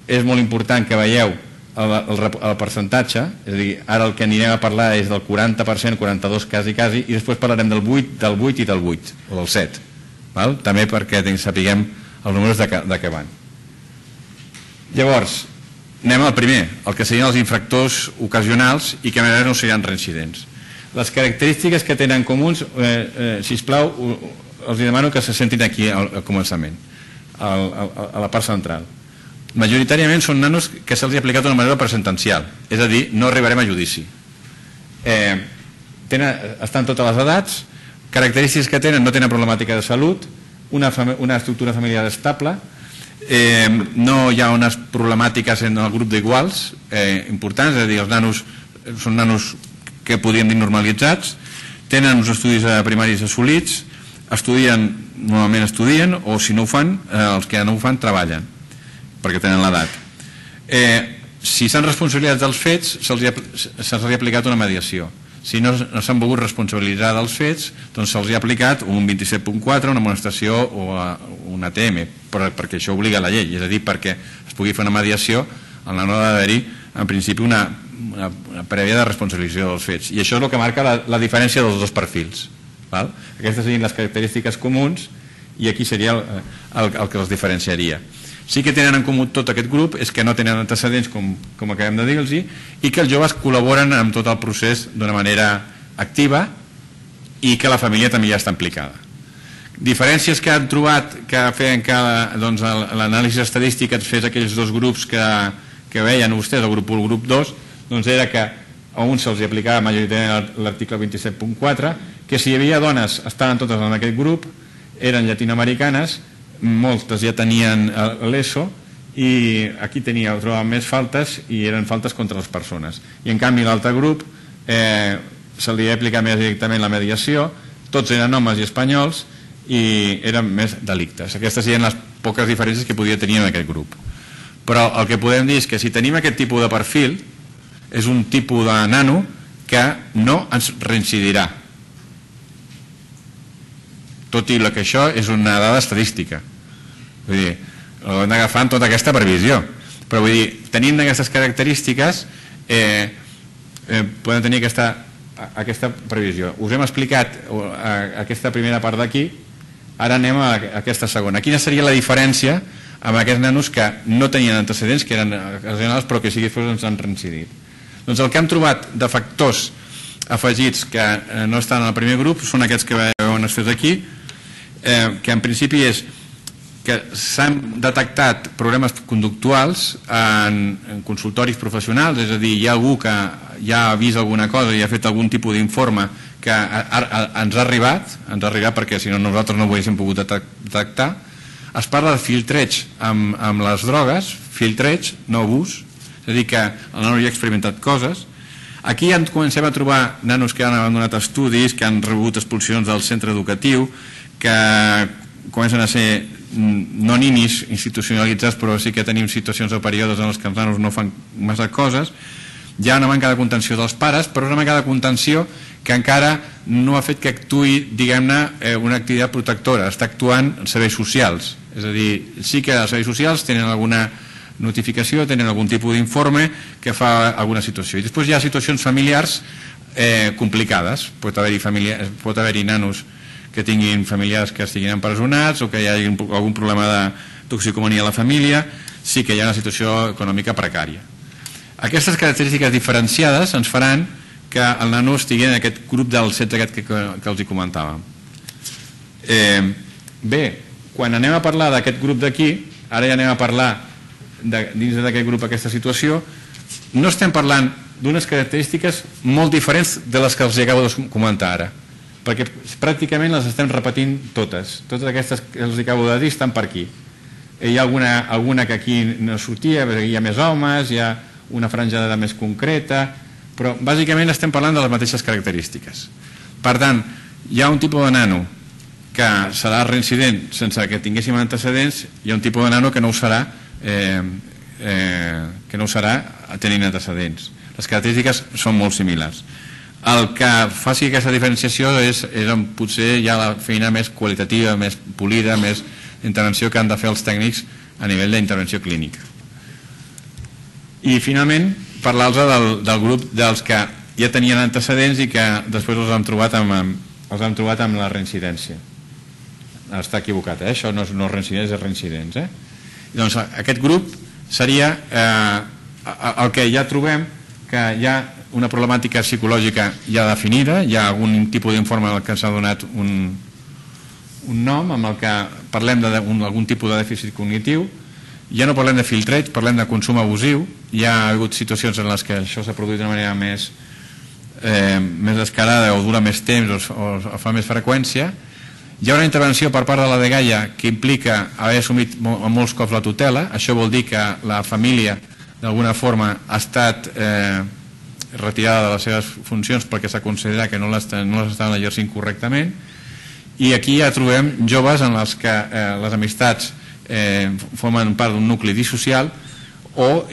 és molt important que veieu el percentatge, és a dir, ara el que anirem a parlar és del 40%, 42 quasi, i després parlarem del 8 i del 8, o del 7, també perquè sapiguem els números de què van. Llavors, anem al primer, el que serien els infractors ocasionals i que a més no seran reincidents. Les característiques que tenen comuns, sisplau, els demano que se sentin aquí al començament, a la part central. Majoritàriament són nanos que se'ls ha aplicat d'una manera presentencial, és a dir, no arribarem a judici. Estan totes les edats, característiques que tenen, no tenen problemàtica de salut, una estructura familiar estable, no hi ha unes problemàtiques en el grup d'iguals importants, és a dir, els nanos són nanos que podríem dir normalitzats, tenen uns estudis primaris assolits, normalment estudien, o si no ho fan, els que no ho fan treballen, perquè tenen l'edat. Si s'han responsabilitzat dels fets, se'ls ha aplicat una mediació. Si no s'han volgut responsabilitzar dels fets, doncs se'ls ha aplicat un 27.4, una amonestació o un ATM, perquè això obliga la llei, és a dir, perquè es pugui fer una mediació, el nano ha d'haver-hi, en principi, una prèvia de responsabilització dels fets. I això és el que marca la diferència dels dos perfils. Aquestes serien les característiques comuns i aquí seria el que els diferenciaria. Sí que tenen en comú tot aquest grup és que no tenen antecedents, com acabem de dir-los, i que els joves col·laboren amb tot el procés d'una manera activa i que la família també ja està implicada. Diferències que han trobat que feien que l'anàlisi estadístic ens fes aquells dos grups que veien vostès, el grup 1 i el grup 2, doncs era que a uns se'ls aplicava majoritàriament l'article 27.4, que si hi havia dones estaven totes en aquest grup, eren llatinoamericanes, moltes ja tenien l'ESO i aquí trobaven més faltes i eren faltes contra les persones. I en canvi l'altre grup se li ha aplicat més directament la mediació, tots eren homes i espanyols i eren més delictes. Aquestes serien les poques diferències que podia tenir en aquest grup. Però el que podem dir és que si tenim aquest tipus de perfil, és un tipus de nano que no ens reincidirà. Tot i que això és una dada estadística. Vull dir, ho hem d'agafar en tota aquesta previsió. Però vull dir, tenint aquestes característiques, podem tenir aquesta previsió. Us hem explicat aquesta primera part d'aquí, ara anem a aquesta segona. Quina seria la diferència amb aquests nanos que no tenien antecedents, que eren ocasionals, però que sí que ens han reincidit? Doncs el que hem trobat de factors afegits que no estan en el primer grup són aquests que veuen estès aquí, que en principi és que s'han detectat problemes conductuals en consultoris professionals, és a dir, hi ha algú que ja ha vist alguna cosa i ha fet algun tipus d'informe que ens ha arribat perquè si no nosaltres no ho haguéssim pogut detectar. Es parla de filtreig amb les drogues, filtreig, no abús, és a dir, que el nano ja ha experimentat coses. Aquí ja comencem a trobar nanos que han abandonat estudis, que han rebut expulsions del centre educatiu, que comencen a ser no ninis institucionalitzats, però sí que tenim situacions o períodes en els que els nanos no fan massa coses, Hi ha una manca de contenció dels pares, però una manca de contenció que encara no ha fet que actuï, diguem-ne, una activitat protectora. Està actuant en serveis socials. És a dir, sí que els serveis socials tenen alguna notificació, tenen algun tipus d'informe que fa alguna situació. I després hi ha situacions familiars complicades. Pot haver-hi nanos que tinguin familiars que estiguin empresonats o que hi hagi algun problema de toxicomania a la família. Sí que hi ha una situació econòmica precària. Aquestes característiques diferenciades ens faran que el nano estigui en aquest grup del 16 que els hi comentàvem. Bé, quan anem a parlar d'aquest grup d'aquí, ara ja anem a parlar dins d'aquest grup aquesta situació, no estem parlant d'unes característiques molt diferents de les que els acabo de comentar ara, perquè pràcticament les estem repetint totes. Totes aquestes que els acabo de dir estan per aquí. Hi ha alguna que aquí no sortia, hi ha més homes, hi ha una franja d'edat més concreta, però bàsicament estem parlant de les mateixes característiques. Per tant, hi ha un tipus de nano que serà reincident sense que tinguéssim antecedents, hi ha un tipus de nano que no ho serà tenint antecedents. Les característiques són molt similars. El que faci aquesta diferenciació és potser ja la feina més qualitativa, més polida, més intervenció que han de fer els tècnics a nivell d'intervenció clínica. I finalment parlar-los del grup dels que ja tenien antecedents i que després els han trobat amb la reincidència. Està equivocat, això no és reincidents, és reincidents. Doncs aquest grup seria el que ja trobem que hi ha una problemàtica psicològica ja definida, hi ha algun tipus d'informe en què s'ha donat un nom amb el que parlem d'algun tipus de dèficit cognitiu. Ja no parlem de filtreig, parlem de consum abusiu. Hi ha hagut situacions en les que això s'ha produït d'una manera més descarada o dura més temps o fa més freqüència. Hi ha una intervenció per part de la dgaia que implica haver assumit molts cops la tutela. Això vol dir que la família d'alguna forma ha estat retirada de les seves funcions perquè s'ha considerat que no les estaven exercint correctament. I aquí ja trobem joves en els que les amistats formen part d'un nucli dissocial o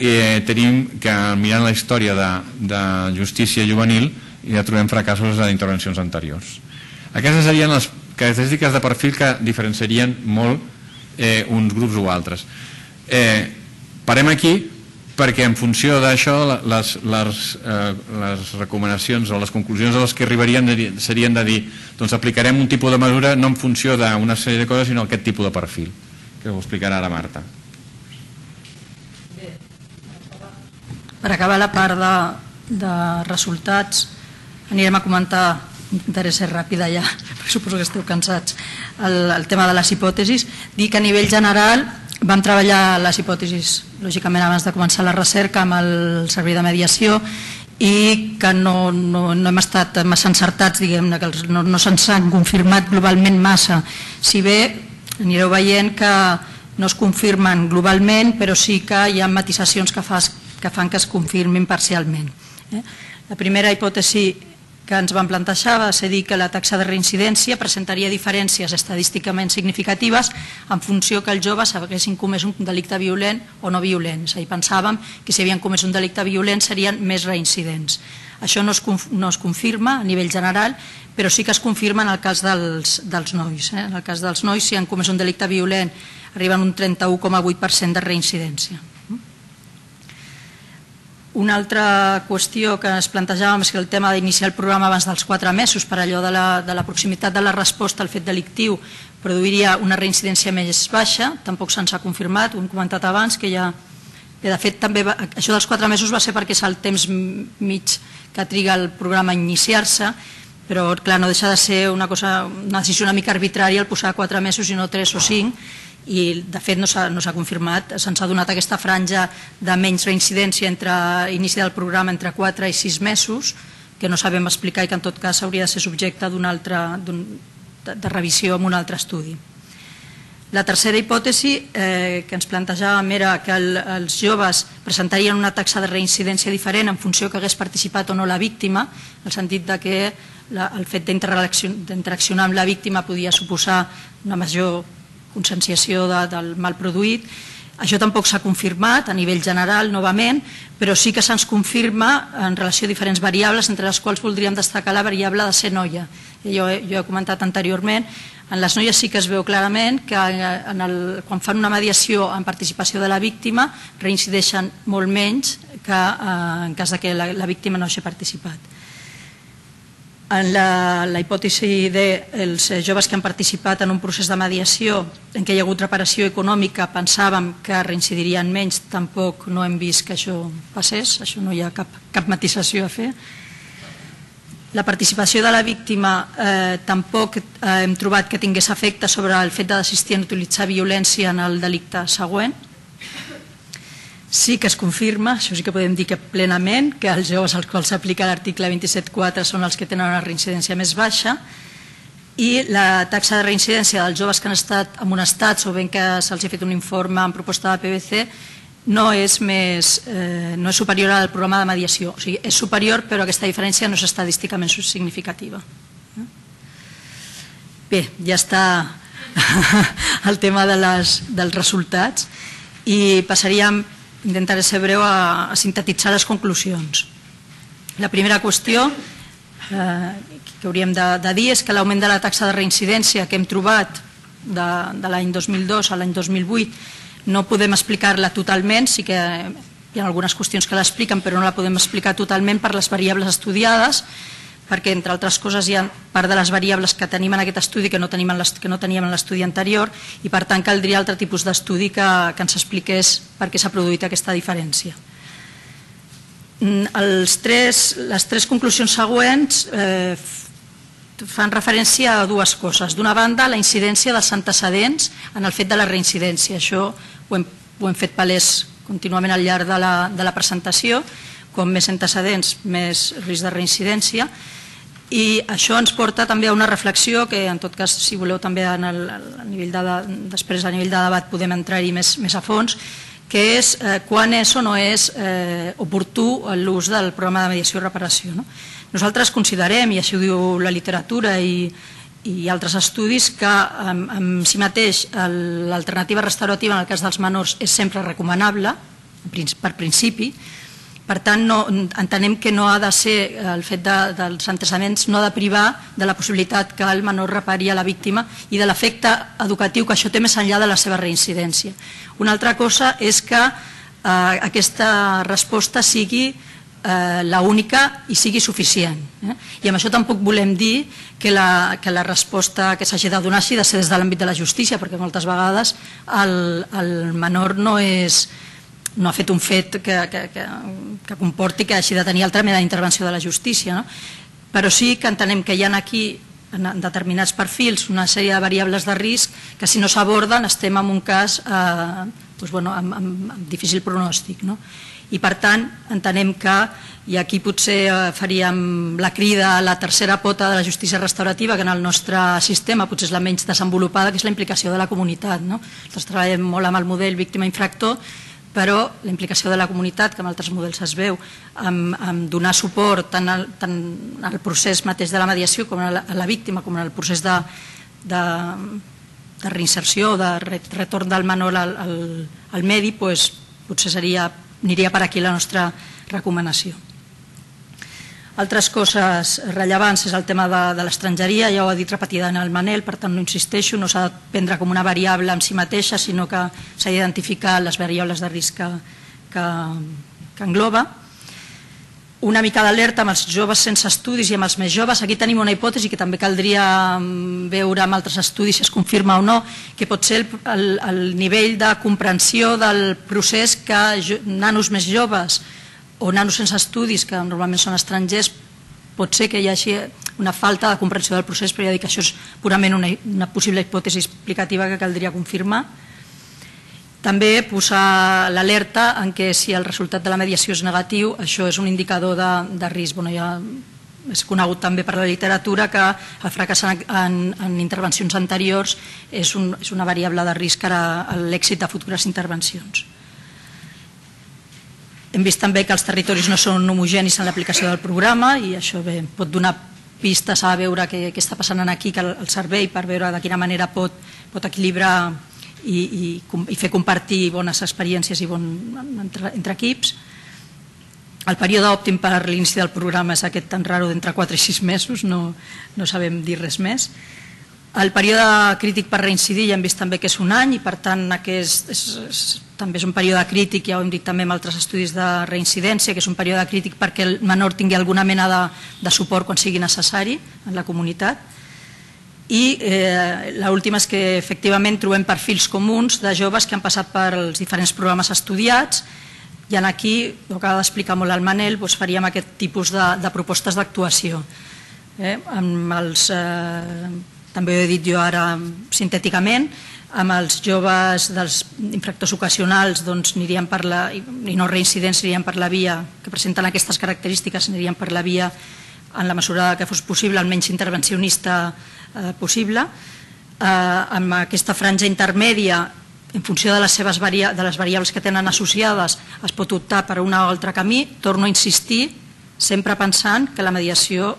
tenim que mirant la història de justícia juvenil ja trobem fracassos d'intervencions anteriors. Aquestes serien les característiques de perfil que diferenciarien molt uns grups o altres. Parem aquí perquè en funció d'això les recomanacions o les conclusions a les que arribarien serien de dir doncs aplicarem un tipus de mesura no en funció d'una sèrie de coses sinó aquest tipus de perfil que ho explicarà ara Marta. Per acabar la part de resultats anirem a comentar, intentaré ser ràpida ja perquè suposo que esteu cansats, el tema de les hipòtesis. Dir que a nivell general vam treballar les hipòtesis lògicament abans de començar la recerca amb el servei de mediació i que no hem estat massa encertats, diguem-ne, que no se'ns han confirmat globalment massa. Si bé anireu veient que no es confirmen globalment, però sí que hi ha matisacions que fan que es confirmin parcialment. La primera hipòtesi que ens van plantejar va ser dir que la taxa de reincidència presentaria diferències estadísticament significatives en funció que els joves haguessin comès un delicte violent o no violent. És a dir, pensàvem que si havien comès un delicte violent serien més reincidents. Això no es confirma a nivell general, però sí que es confirma en el cas dels nois. En el cas dels nois, si han comès un delicte violent, arriben un 31,8% de reincidència. Una altra qüestió que ens plantejàvem és que el tema d'iniciar el programa abans dels 4 mesos per allò de la proximitat de la resposta al fet delictiu produiria una reincidència més baixa, tampoc se'ns ha confirmat, ho hem comentat abans, que ja... De fet, també això dels 4 mesos va ser perquè és el temps mig que triga el programa a iniciar-se, però clar, no deixa de ser una decisió una mica arbitrària el posar 4 mesos i no 3 o 5, i de fet no s'ha confirmat, se'ns ha donat aquesta franja de menys reincidència entre inici del programa entre 4 i 6 mesos, que no sabem explicar i que en tot cas hauria de ser subjecte de revisió en un altre estudi. La tercera hipòtesi que ens plantejàvem era que els joves presentarien una taxa de reincidència diferent en funció que hagués participat o no la víctima, en el sentit que el fet d'interaccionar amb la víctima podia suposar una major conscienciació del mal produït. Això tampoc s'ha confirmat a nivell general, novament, però sí que se'ns confirma en relació a diferents variables, entre les quals voldríem destacar la variable de ser noia. Jo he comentat anteriorment, en les noies sí que es veu clarament que quan fan una mediació en participació de la víctima reincideixen molt menys que en cas que la víctima no hagi participat. En la hipòtesi dels joves que han participat en un procés de mediació en què hi ha hagut reparació econòmica pensàvem que reincidirien menys, tampoc no hem vist que això passés, això no hi ha cap matisació a fer. La participació de la víctima tampoc hem trobat que tingués efecte sobre el fet de desistir en utilitzar violència en el delicte següent. Sí que es confirma, això sí que podem dir que plenament, que els joves als quals s'aplica l'article 27.4 són els que tenen una reincidència més baixa i la taxa de reincidència dels joves que han estat amonestats o ben que se'ls ha fet un informe en proposta de PBC no és superior al programa de mediació. O sigui, és superior, però aquesta diferència no és estadísticament significativa. Bé, ja està el tema dels resultats i passaríem, intentaré ser breu, a sintetitzar les conclusions. La primera qüestió que hauríem de dir és que l'augment de la taxa de reincidència que hem trobat de l'any 2002 a l'any 2008 no podem explicar-la totalment, sí que hi ha algunes qüestions que l'expliquen, però no la podem explicar totalment per les variables estudiades, perquè, entre altres coses, hi ha part de les variables que tenim en aquest estudi que no teníem en l'estudi anterior i, per tant, caldria altre tipus d'estudi que ens expliqués per què s'ha produït aquesta diferència. Les tres conclusions següents fan referència a dues coses. D'una banda, la incidència dels antecedents en el fet de la reincidència. Això ho hem fet palès contínuament al llarg de la presentació. Com més antecedents, més risc de reincidència, i això ens porta també a una reflexió que, en tot cas, si voleu també després a nivell de debat podem entrar-hi més a fons, que és quan és o no és oportú l'ús del programa de mediació i reparació. Nosaltres considerem, i així ho diu la literatura i altres estudis, que en si mateix l'alternativa restaurativa en el cas dels menors és sempre recomanable, per principi. Per tant, entenem que no ha de ser el fet dels antecedents, no ha de privar de la possibilitat que el menor repari a la víctima i de l'efecte educatiu que això té més enllà de la seva reincidència. Una altra cosa és que aquesta resposta sigui l'única i sigui suficient. I amb això tampoc volem dir que la resposta que s'hagi de donar hagi de ser des de l'àmbit de la justícia, perquè moltes vegades el menor no ha fet un fet que comporti que hagi de tenir altra mena d'intervenció de la justícia, però sí que entenem que hi ha aquí, en determinats perfils, una sèrie de variables de risc que, si no s'aborden, estem en un cas amb difícil pronòstic. I, per tant, entenem que, i aquí potser faríem la crida a la tercera pota de la justícia restaurativa, que en el nostre sistema potser és la menys desenvolupada, que és la implicació de la comunitat. Nosaltres treballem molt amb el model víctima-infractor, però la implicació de la comunitat, que en altres models es veu, en donar suport tant al procés mateix de la mediació com a la víctima, com en el procés de reinserció, de retorn del menor al medi, potser aniria per aquí la nostra recomanació. Altres coses rellevants és el tema de l'estrangeria, ja ho ha dit repetidament el Manel, per tant no insisteixo, no s'ha de prendre com una variable en si mateixa, sinó que s'ha d'identificar les variables de risc que engloba. Una mica d'alerta amb els joves sense estudis i amb els més joves. Aquí tenim una hipòtesi que també caldria veure amb altres estudis si es confirma o no, que pot ser el nivell de comprensió del procés que nanos més joves o nanos sense estudis, que normalment són estrangers, pot ser que hi hagi una falta de comprensió del procés, però ja dic que això és purament una possible hipòtesi explicativa que caldria confirmar. També posar l'alerta en què, si el resultat de la mediació és negatiu, això és un indicador de risc. Ja és conegut també per la literatura que el fracàs en intervencions anteriors és una variable de risc a l'èxit de futures intervencions. Hem vist també que els territoris no són homogenis en l'aplicació del programa i això pot donar pistes a veure què està passant aquí, el servei, per veure de quina manera pot equilibrar i fer compartir bones experiències entre equips. El període òptim per l'inici del programa és aquest tan raro d'entre 4 i 6 mesos, no sabem dir res més. El període crític per reincidir ja hem vist també que és un any i per tant també és un període crític, ja ho hem dit també amb altres estudis de reincidència, que és un període crític perquè el menor tingui alguna mena de suport quan sigui necessari en la comunitat. I l'última és que efectivament trobem perfils comuns de joves que han passat pels diferents programes estudiats i aquí, ho acaba d'explicar molt el Manel, faríem aquest tipus de propostes d'actuació. També ho he dit jo ara sintèticament, amb els joves dels infractors ocasionals anirien per la, i no reincidents, anirien per la via que presenten aquestes característiques, anirien per la via en la mesura que fos possible, el menys intervencionista possible. Amb aquesta franja intermèdia, en funció de les variables que tenen associades, es pot optar per un o altre camí. Torno a insistir, sempre pensant que la mediació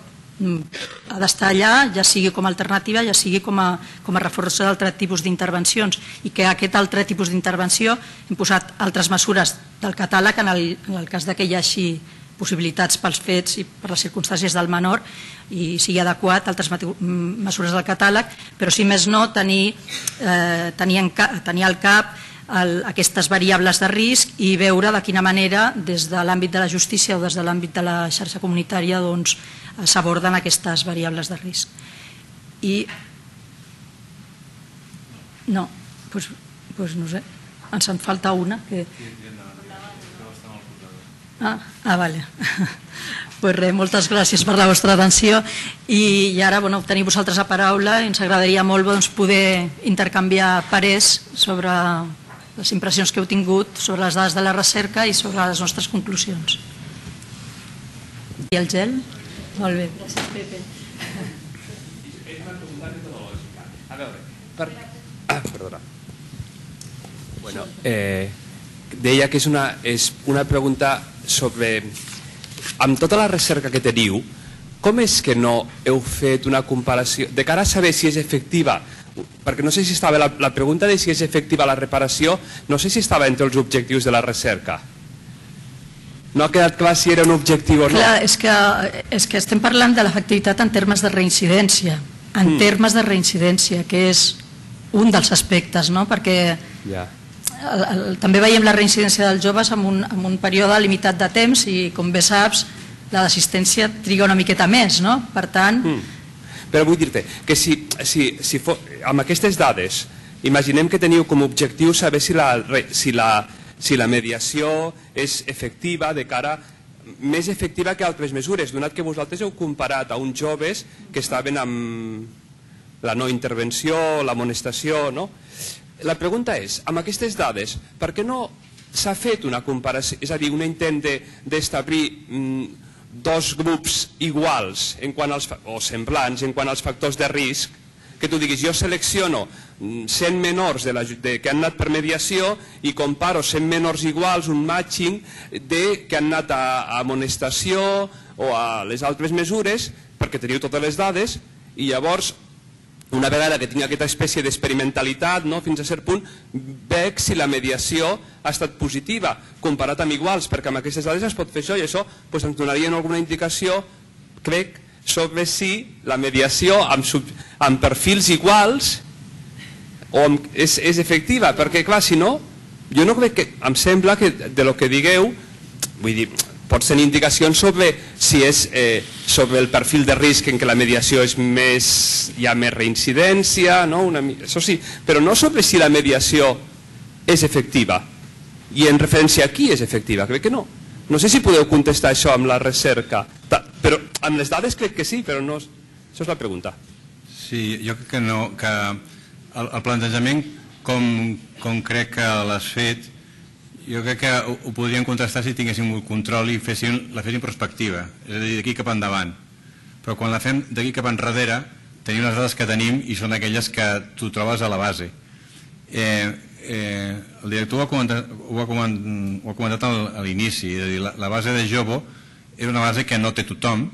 ha d'estar allà, ja sigui com a alternativa, ja sigui com a reforç d'altres tipus d'intervencions, i que aquest altre tipus d'intervenció hem posat altres mesures del catàleg en el cas que hi hagi possibilitats pels fets i per les circumstàncies del menor i sigui adequat altres mesures del catàleg, però si més no tenir al cap aquestes variables de risc i veure de quina manera des de l'àmbit de la justícia o des de l'àmbit de la xarxa comunitària s'aborden aquestes variables de risc. I no, doncs no sé, ens en falta una que... Vale. Pues res, moltes gràcies per la vostra atenció i ara teniu vosaltres la paraula i ens agradaria molt poder intercanviar parers sobre les impressions que heu tingut sobre les dades de la recerca i sobre les nostres conclusions. I el gel? Molt bé, gràcies Pepe. És una pregunta metodològica. A veure, perdona. Bueno, deia que és una pregunta sobre, amb tota la recerca que teniu, com és que no heu fet una comparació, de cara a saber si és efectiva, perquè no sé si estava, la pregunta de si és efectiva la reparació, no sé si estava entre els objectius de la recerca. No ha quedat clar si era un objectiu o no. Clar, és que estem parlant de l'efectivitat en termes de reincidència, que és un dels aspectes, no? Perquè també veiem la reincidència dels joves en un període limitat de temps i, com bé saps, la d'assistència triga una miqueta més, no? Per tant... Però vull dir-te que si amb aquestes dades imaginem que teniu com a objectiu saber si la mediació és efectiva de cara més efectiva que altres mesures, donat que vosaltres heu comparat a uns joves que estaven amb la no intervenció, l'amonestació, no? La pregunta és, amb aquestes dades, per què no s'ha fet una comparació, és a dir, un intent d'establir dos grups iguals o semblants en quant als factors de risc, que tu diguis, jo selecciono 100 menors que han anat per mediació i comparo 100 menors iguals, un matching que han anat a amonestació o a les altres mesures, perquè teniu totes les dades, i llavors, una vegada que tinc aquesta espècie d'experimentalitat, fins a cert punt, veig si la mediació ha estat positiva, comparat amb iguals, perquè amb aquestes dades es pot fer això, i això ens donaria alguna indicació, crec, sobre si la mediació amb perfils iguals és efectiva, perquè clar, si no, jo no crec que, em sembla que de lo que digueu, vull dir, pot ser indicacions sobre si és sobre el perfil de risc en què la mediació és més, hi ha més reincidència, això sí, però no sobre si la mediació és efectiva i en referència a qui és efectiva, crec que no. No sé si podeu contestar això amb la recerca, però amb les dades crec que sí, però no, això és la pregunta. Sí, jo crec que no, que el plantejament com crec que l'has fet, jo crec que ho podríem contrastar si tinguéssim un control i la féssim prospectiva, és a dir, d'aquí cap endavant. Però quan la fem d'aquí cap enrere, tenim les dades que tenim i són aquelles que tu trobes a la base. El director ho ha comentat a l'inici, és a dir, la base de Jovo és una base que no té tothom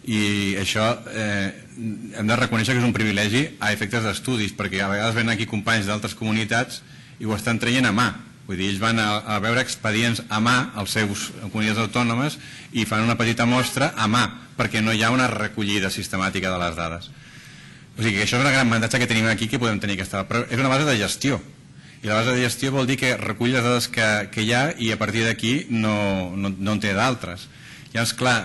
i això hem de reconèixer que és un privilegi a efectes d'estudis, perquè a vegades venen aquí companys d'altres comunitats i ho estan traient a mà. Vull dir, ells van a veure expedients a mà als seus comunitats autònomes i fan una petita mostra a mà, perquè no hi ha una recollida sistemàtica de les dades. O sigui que això és una gran avantatge que tenim aquí, que podem tenir aquesta, però és una base de gestió. I la base de gestió vol dir que recull les dades que hi ha i a partir d'aquí no en té d'altres. Llavors, clar,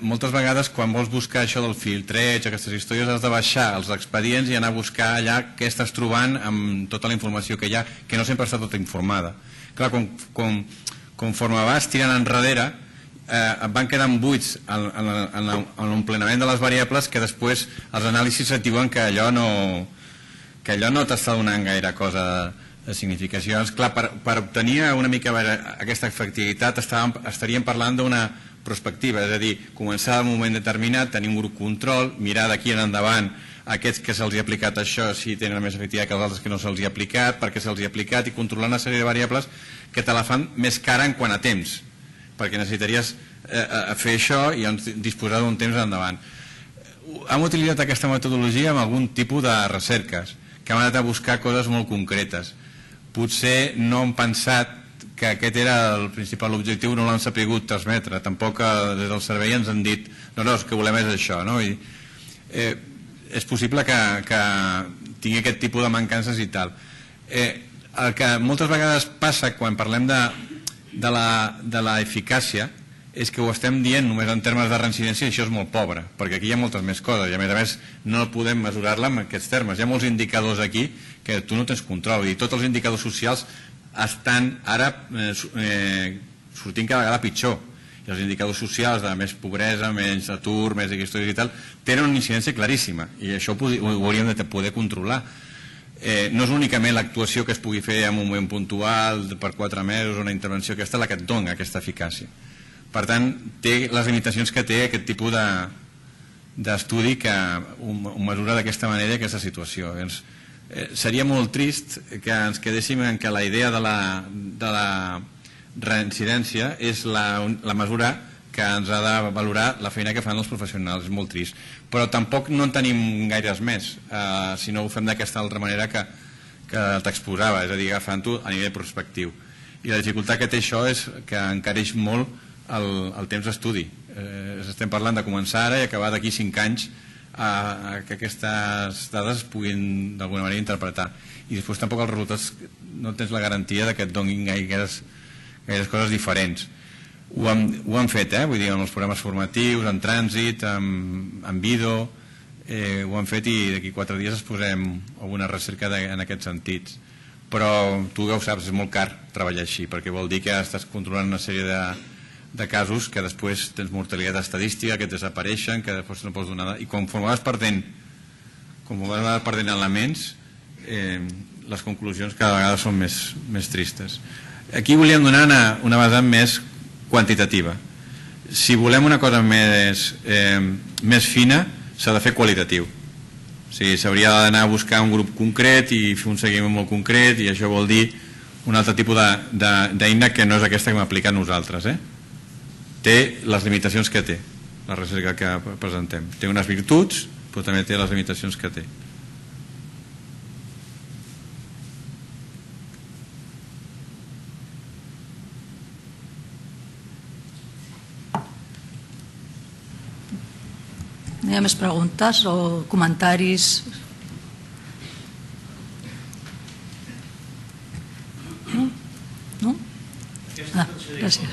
moltes vegades quan vols buscar això del filtreig, aquestes històries, has de baixar els expedients i anar a buscar allà què estàs trobant amb tota la informació que hi ha, que no sempre està tota informada. Clar, conforme vas tirant enrere, et van quedant buits en l'emplenament de les variables, que després els anàlisis et diuen que allò no t'està donant gaire cosa de significació. Clar, per obtenir una mica aquesta efectivitat estaríem parlant d'una prospectiva, és a dir, començar d'un moment determinat, tenir un grup control, mirar d'aquí en endavant aquests que se'ls ha aplicat això, si tenen més efectivitat que els altres que no se'ls ha aplicat, per què se'ls ha aplicat, i controlar una sèrie de variables que te la fan més cara en quant a temps, perquè necessitaries fer això i disposar d'un temps endavant. Hem utilitzat aquesta metodologia amb algun tipus de recerques, que hem anat a buscar coses molt concretes. Potser no hem pensat que aquest era el principal objectiu, no l'han sapigut transmetre, tampoc des del servei ens han dit no, el que volem és això, no? És possible que tingui aquest tipus de mancances i tal. El que moltes vegades passa quan parlem de l'eficàcia és que ho estem dient només en termes de reincidència, i això és molt pobre, perquè aquí hi ha moltes més coses i a més no podem mesurar-la en aquests termes. Hi ha molts indicadors aquí que tu no tens control, i tots els indicadors socials estan ara sortint cada vegada pitjor, i els indicadors socials de més pobresa, menys atur, més històries i tal, tenen una incidència claríssima, i això ho hauríem de poder controlar. No és únicament l'actuació que es pugui fer en un moment puntual per 4 mesos, una intervenció aquesta, la que et dona aquesta eficàcia. Per tant, té les limitacions que té aquest tipus d'estudi que ho mesura d'aquesta manera i aquesta situació. Seria molt trist que ens quedéssim en que la idea de la reincidència és la mesura que ens ha de valorar la feina que fan els professionals. És molt trist, però tampoc no en tenim gaires més si no ho fem d'aquesta altra manera que t'exposava, és a dir, agafant-ho a nivell prospectiu. I la dificultat que té això és que encareix molt el temps d'estudi. Estem parlant de començar ara i acabar d'aquí 5 anys que aquestes dades es puguin d'alguna manera interpretar, i després tampoc els resultats no tens la garantia que et donin gaires coses diferents. Ho han fet, vull dir, en els programes formatius, en trànsit, en Vido, ho han fet, i d'aquí 4 dies es posem alguna recerca en aquests sentits. Però tu ja ho saps, és molt car treballar així, perquè vol dir que estàs controlant una sèrie de casos que després tens mortalitat estadística, que desapareixen, que després no pots donar... I conforme vas perdent elements, les conclusions cada vegada són més tristes. Aquí volíem donar una vessant més quantitativa. Si volem una cosa més fina, s'ha de fer qualitatiu. O sigui, s'hauria d'anar a buscar un grup concret i fer un seguiment molt concret, i això vol dir un altre tipus d'eina que no és aquesta que hem aplicat nosaltres. Té les limitacions que té la recerca que presentem. Té unes virtuts, però també té les limitacions que té. Hi ha més preguntes o comentaris? No? Gràcies.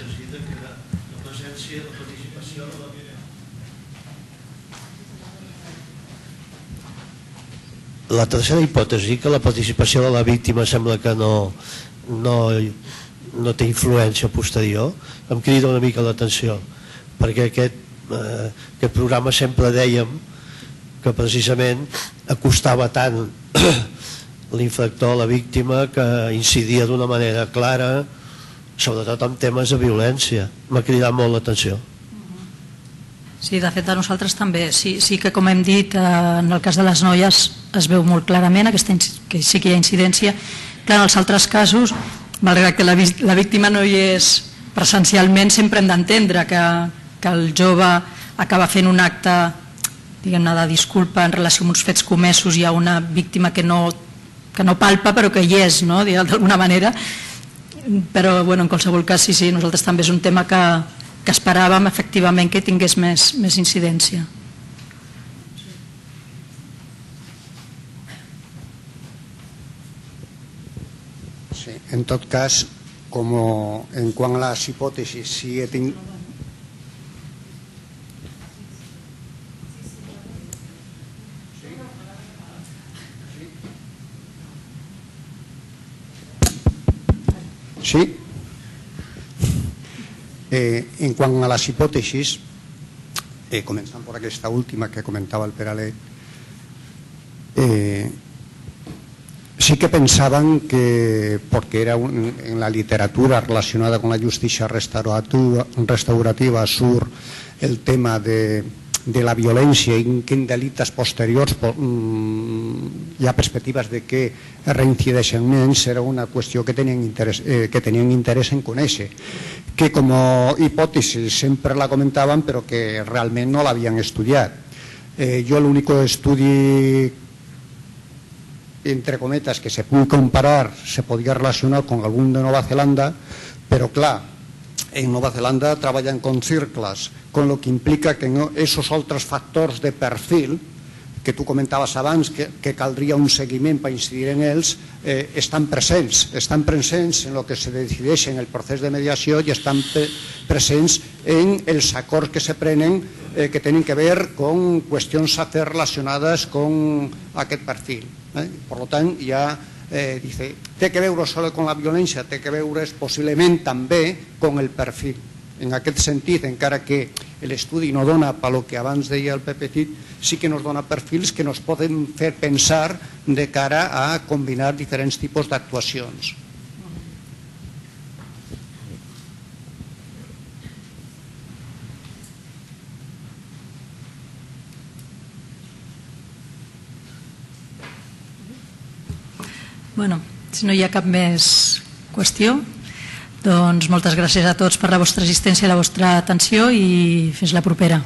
La tercera hipòtesi, que la participació de la víctima sembla que no té influència posterior, em crida una mica l'atenció, perquè aquest programa sempre dèiem que precisament acostava tant l'infractor a la víctima, que incidia d'una manera clara, sobretot en temes de violència. M'ha cridat molt l'atenció. Sí, de fet a nosaltres també. Sí que, com hem dit, en el cas de les noies es veu molt clarament que sí que hi ha incidència. Clar, en els altres casos, malgrat que la víctima no hi és presencialment, sempre hem d'entendre que el jove acaba fent un acte, diguem-ne, de disculpa en relació amb uns fets comesos, hi ha una víctima que no no palpa però que hi és, no? D'alguna manera. Però en qualsevol cas sí, nosaltres també és un tema que esperàvem efectivament que tingués més incidència. Sí, en tot cas, en quant a les hipòtesis, si he tingut... Sí. En quant a les hipòtesis, començant per aquesta última que comentava el Peralet, sí que pensaban que, porque era en la literatura relacionada con la justicia restaurativa sur el tema de la violencia y que en delitos posteriors hi ha perspectives de que reincideixen menys, era una qüestió que tenien interès en conèixer, que com a hipòtesi sempre la comentaven però que realment no l'havien estudiat. Jo l'únic estudi entre cometas que se puede comparar, se podía relacionar con algún de Nueva Zelanda, pero claro, en Nueva Zelanda trabajan con círculos, con lo que implica que esos otros factors de perfil que tu comentaves abans, que caldria un seguiment per incidir en ells, estan presents en el que se decideix en el procés de mediació i estan presents en els acords que se prenen que tenen que ver con qüestions a fer relacionades con aquest perfil. Per tant, ja té que veure solo con la violència, té que veure possiblement també con el perfil. En aquest sentit, encara que l'estudi no dona pel que abans deia el Pep Petit, sí que nos dona perfils que nos poden fer pensar de cara a combinar diferents tipus d'actuacions. Bueno, si no hi ha cap més qüestió, doncs moltes gràcies a tots per la vostra assistència i la vostra atenció i fins la propera.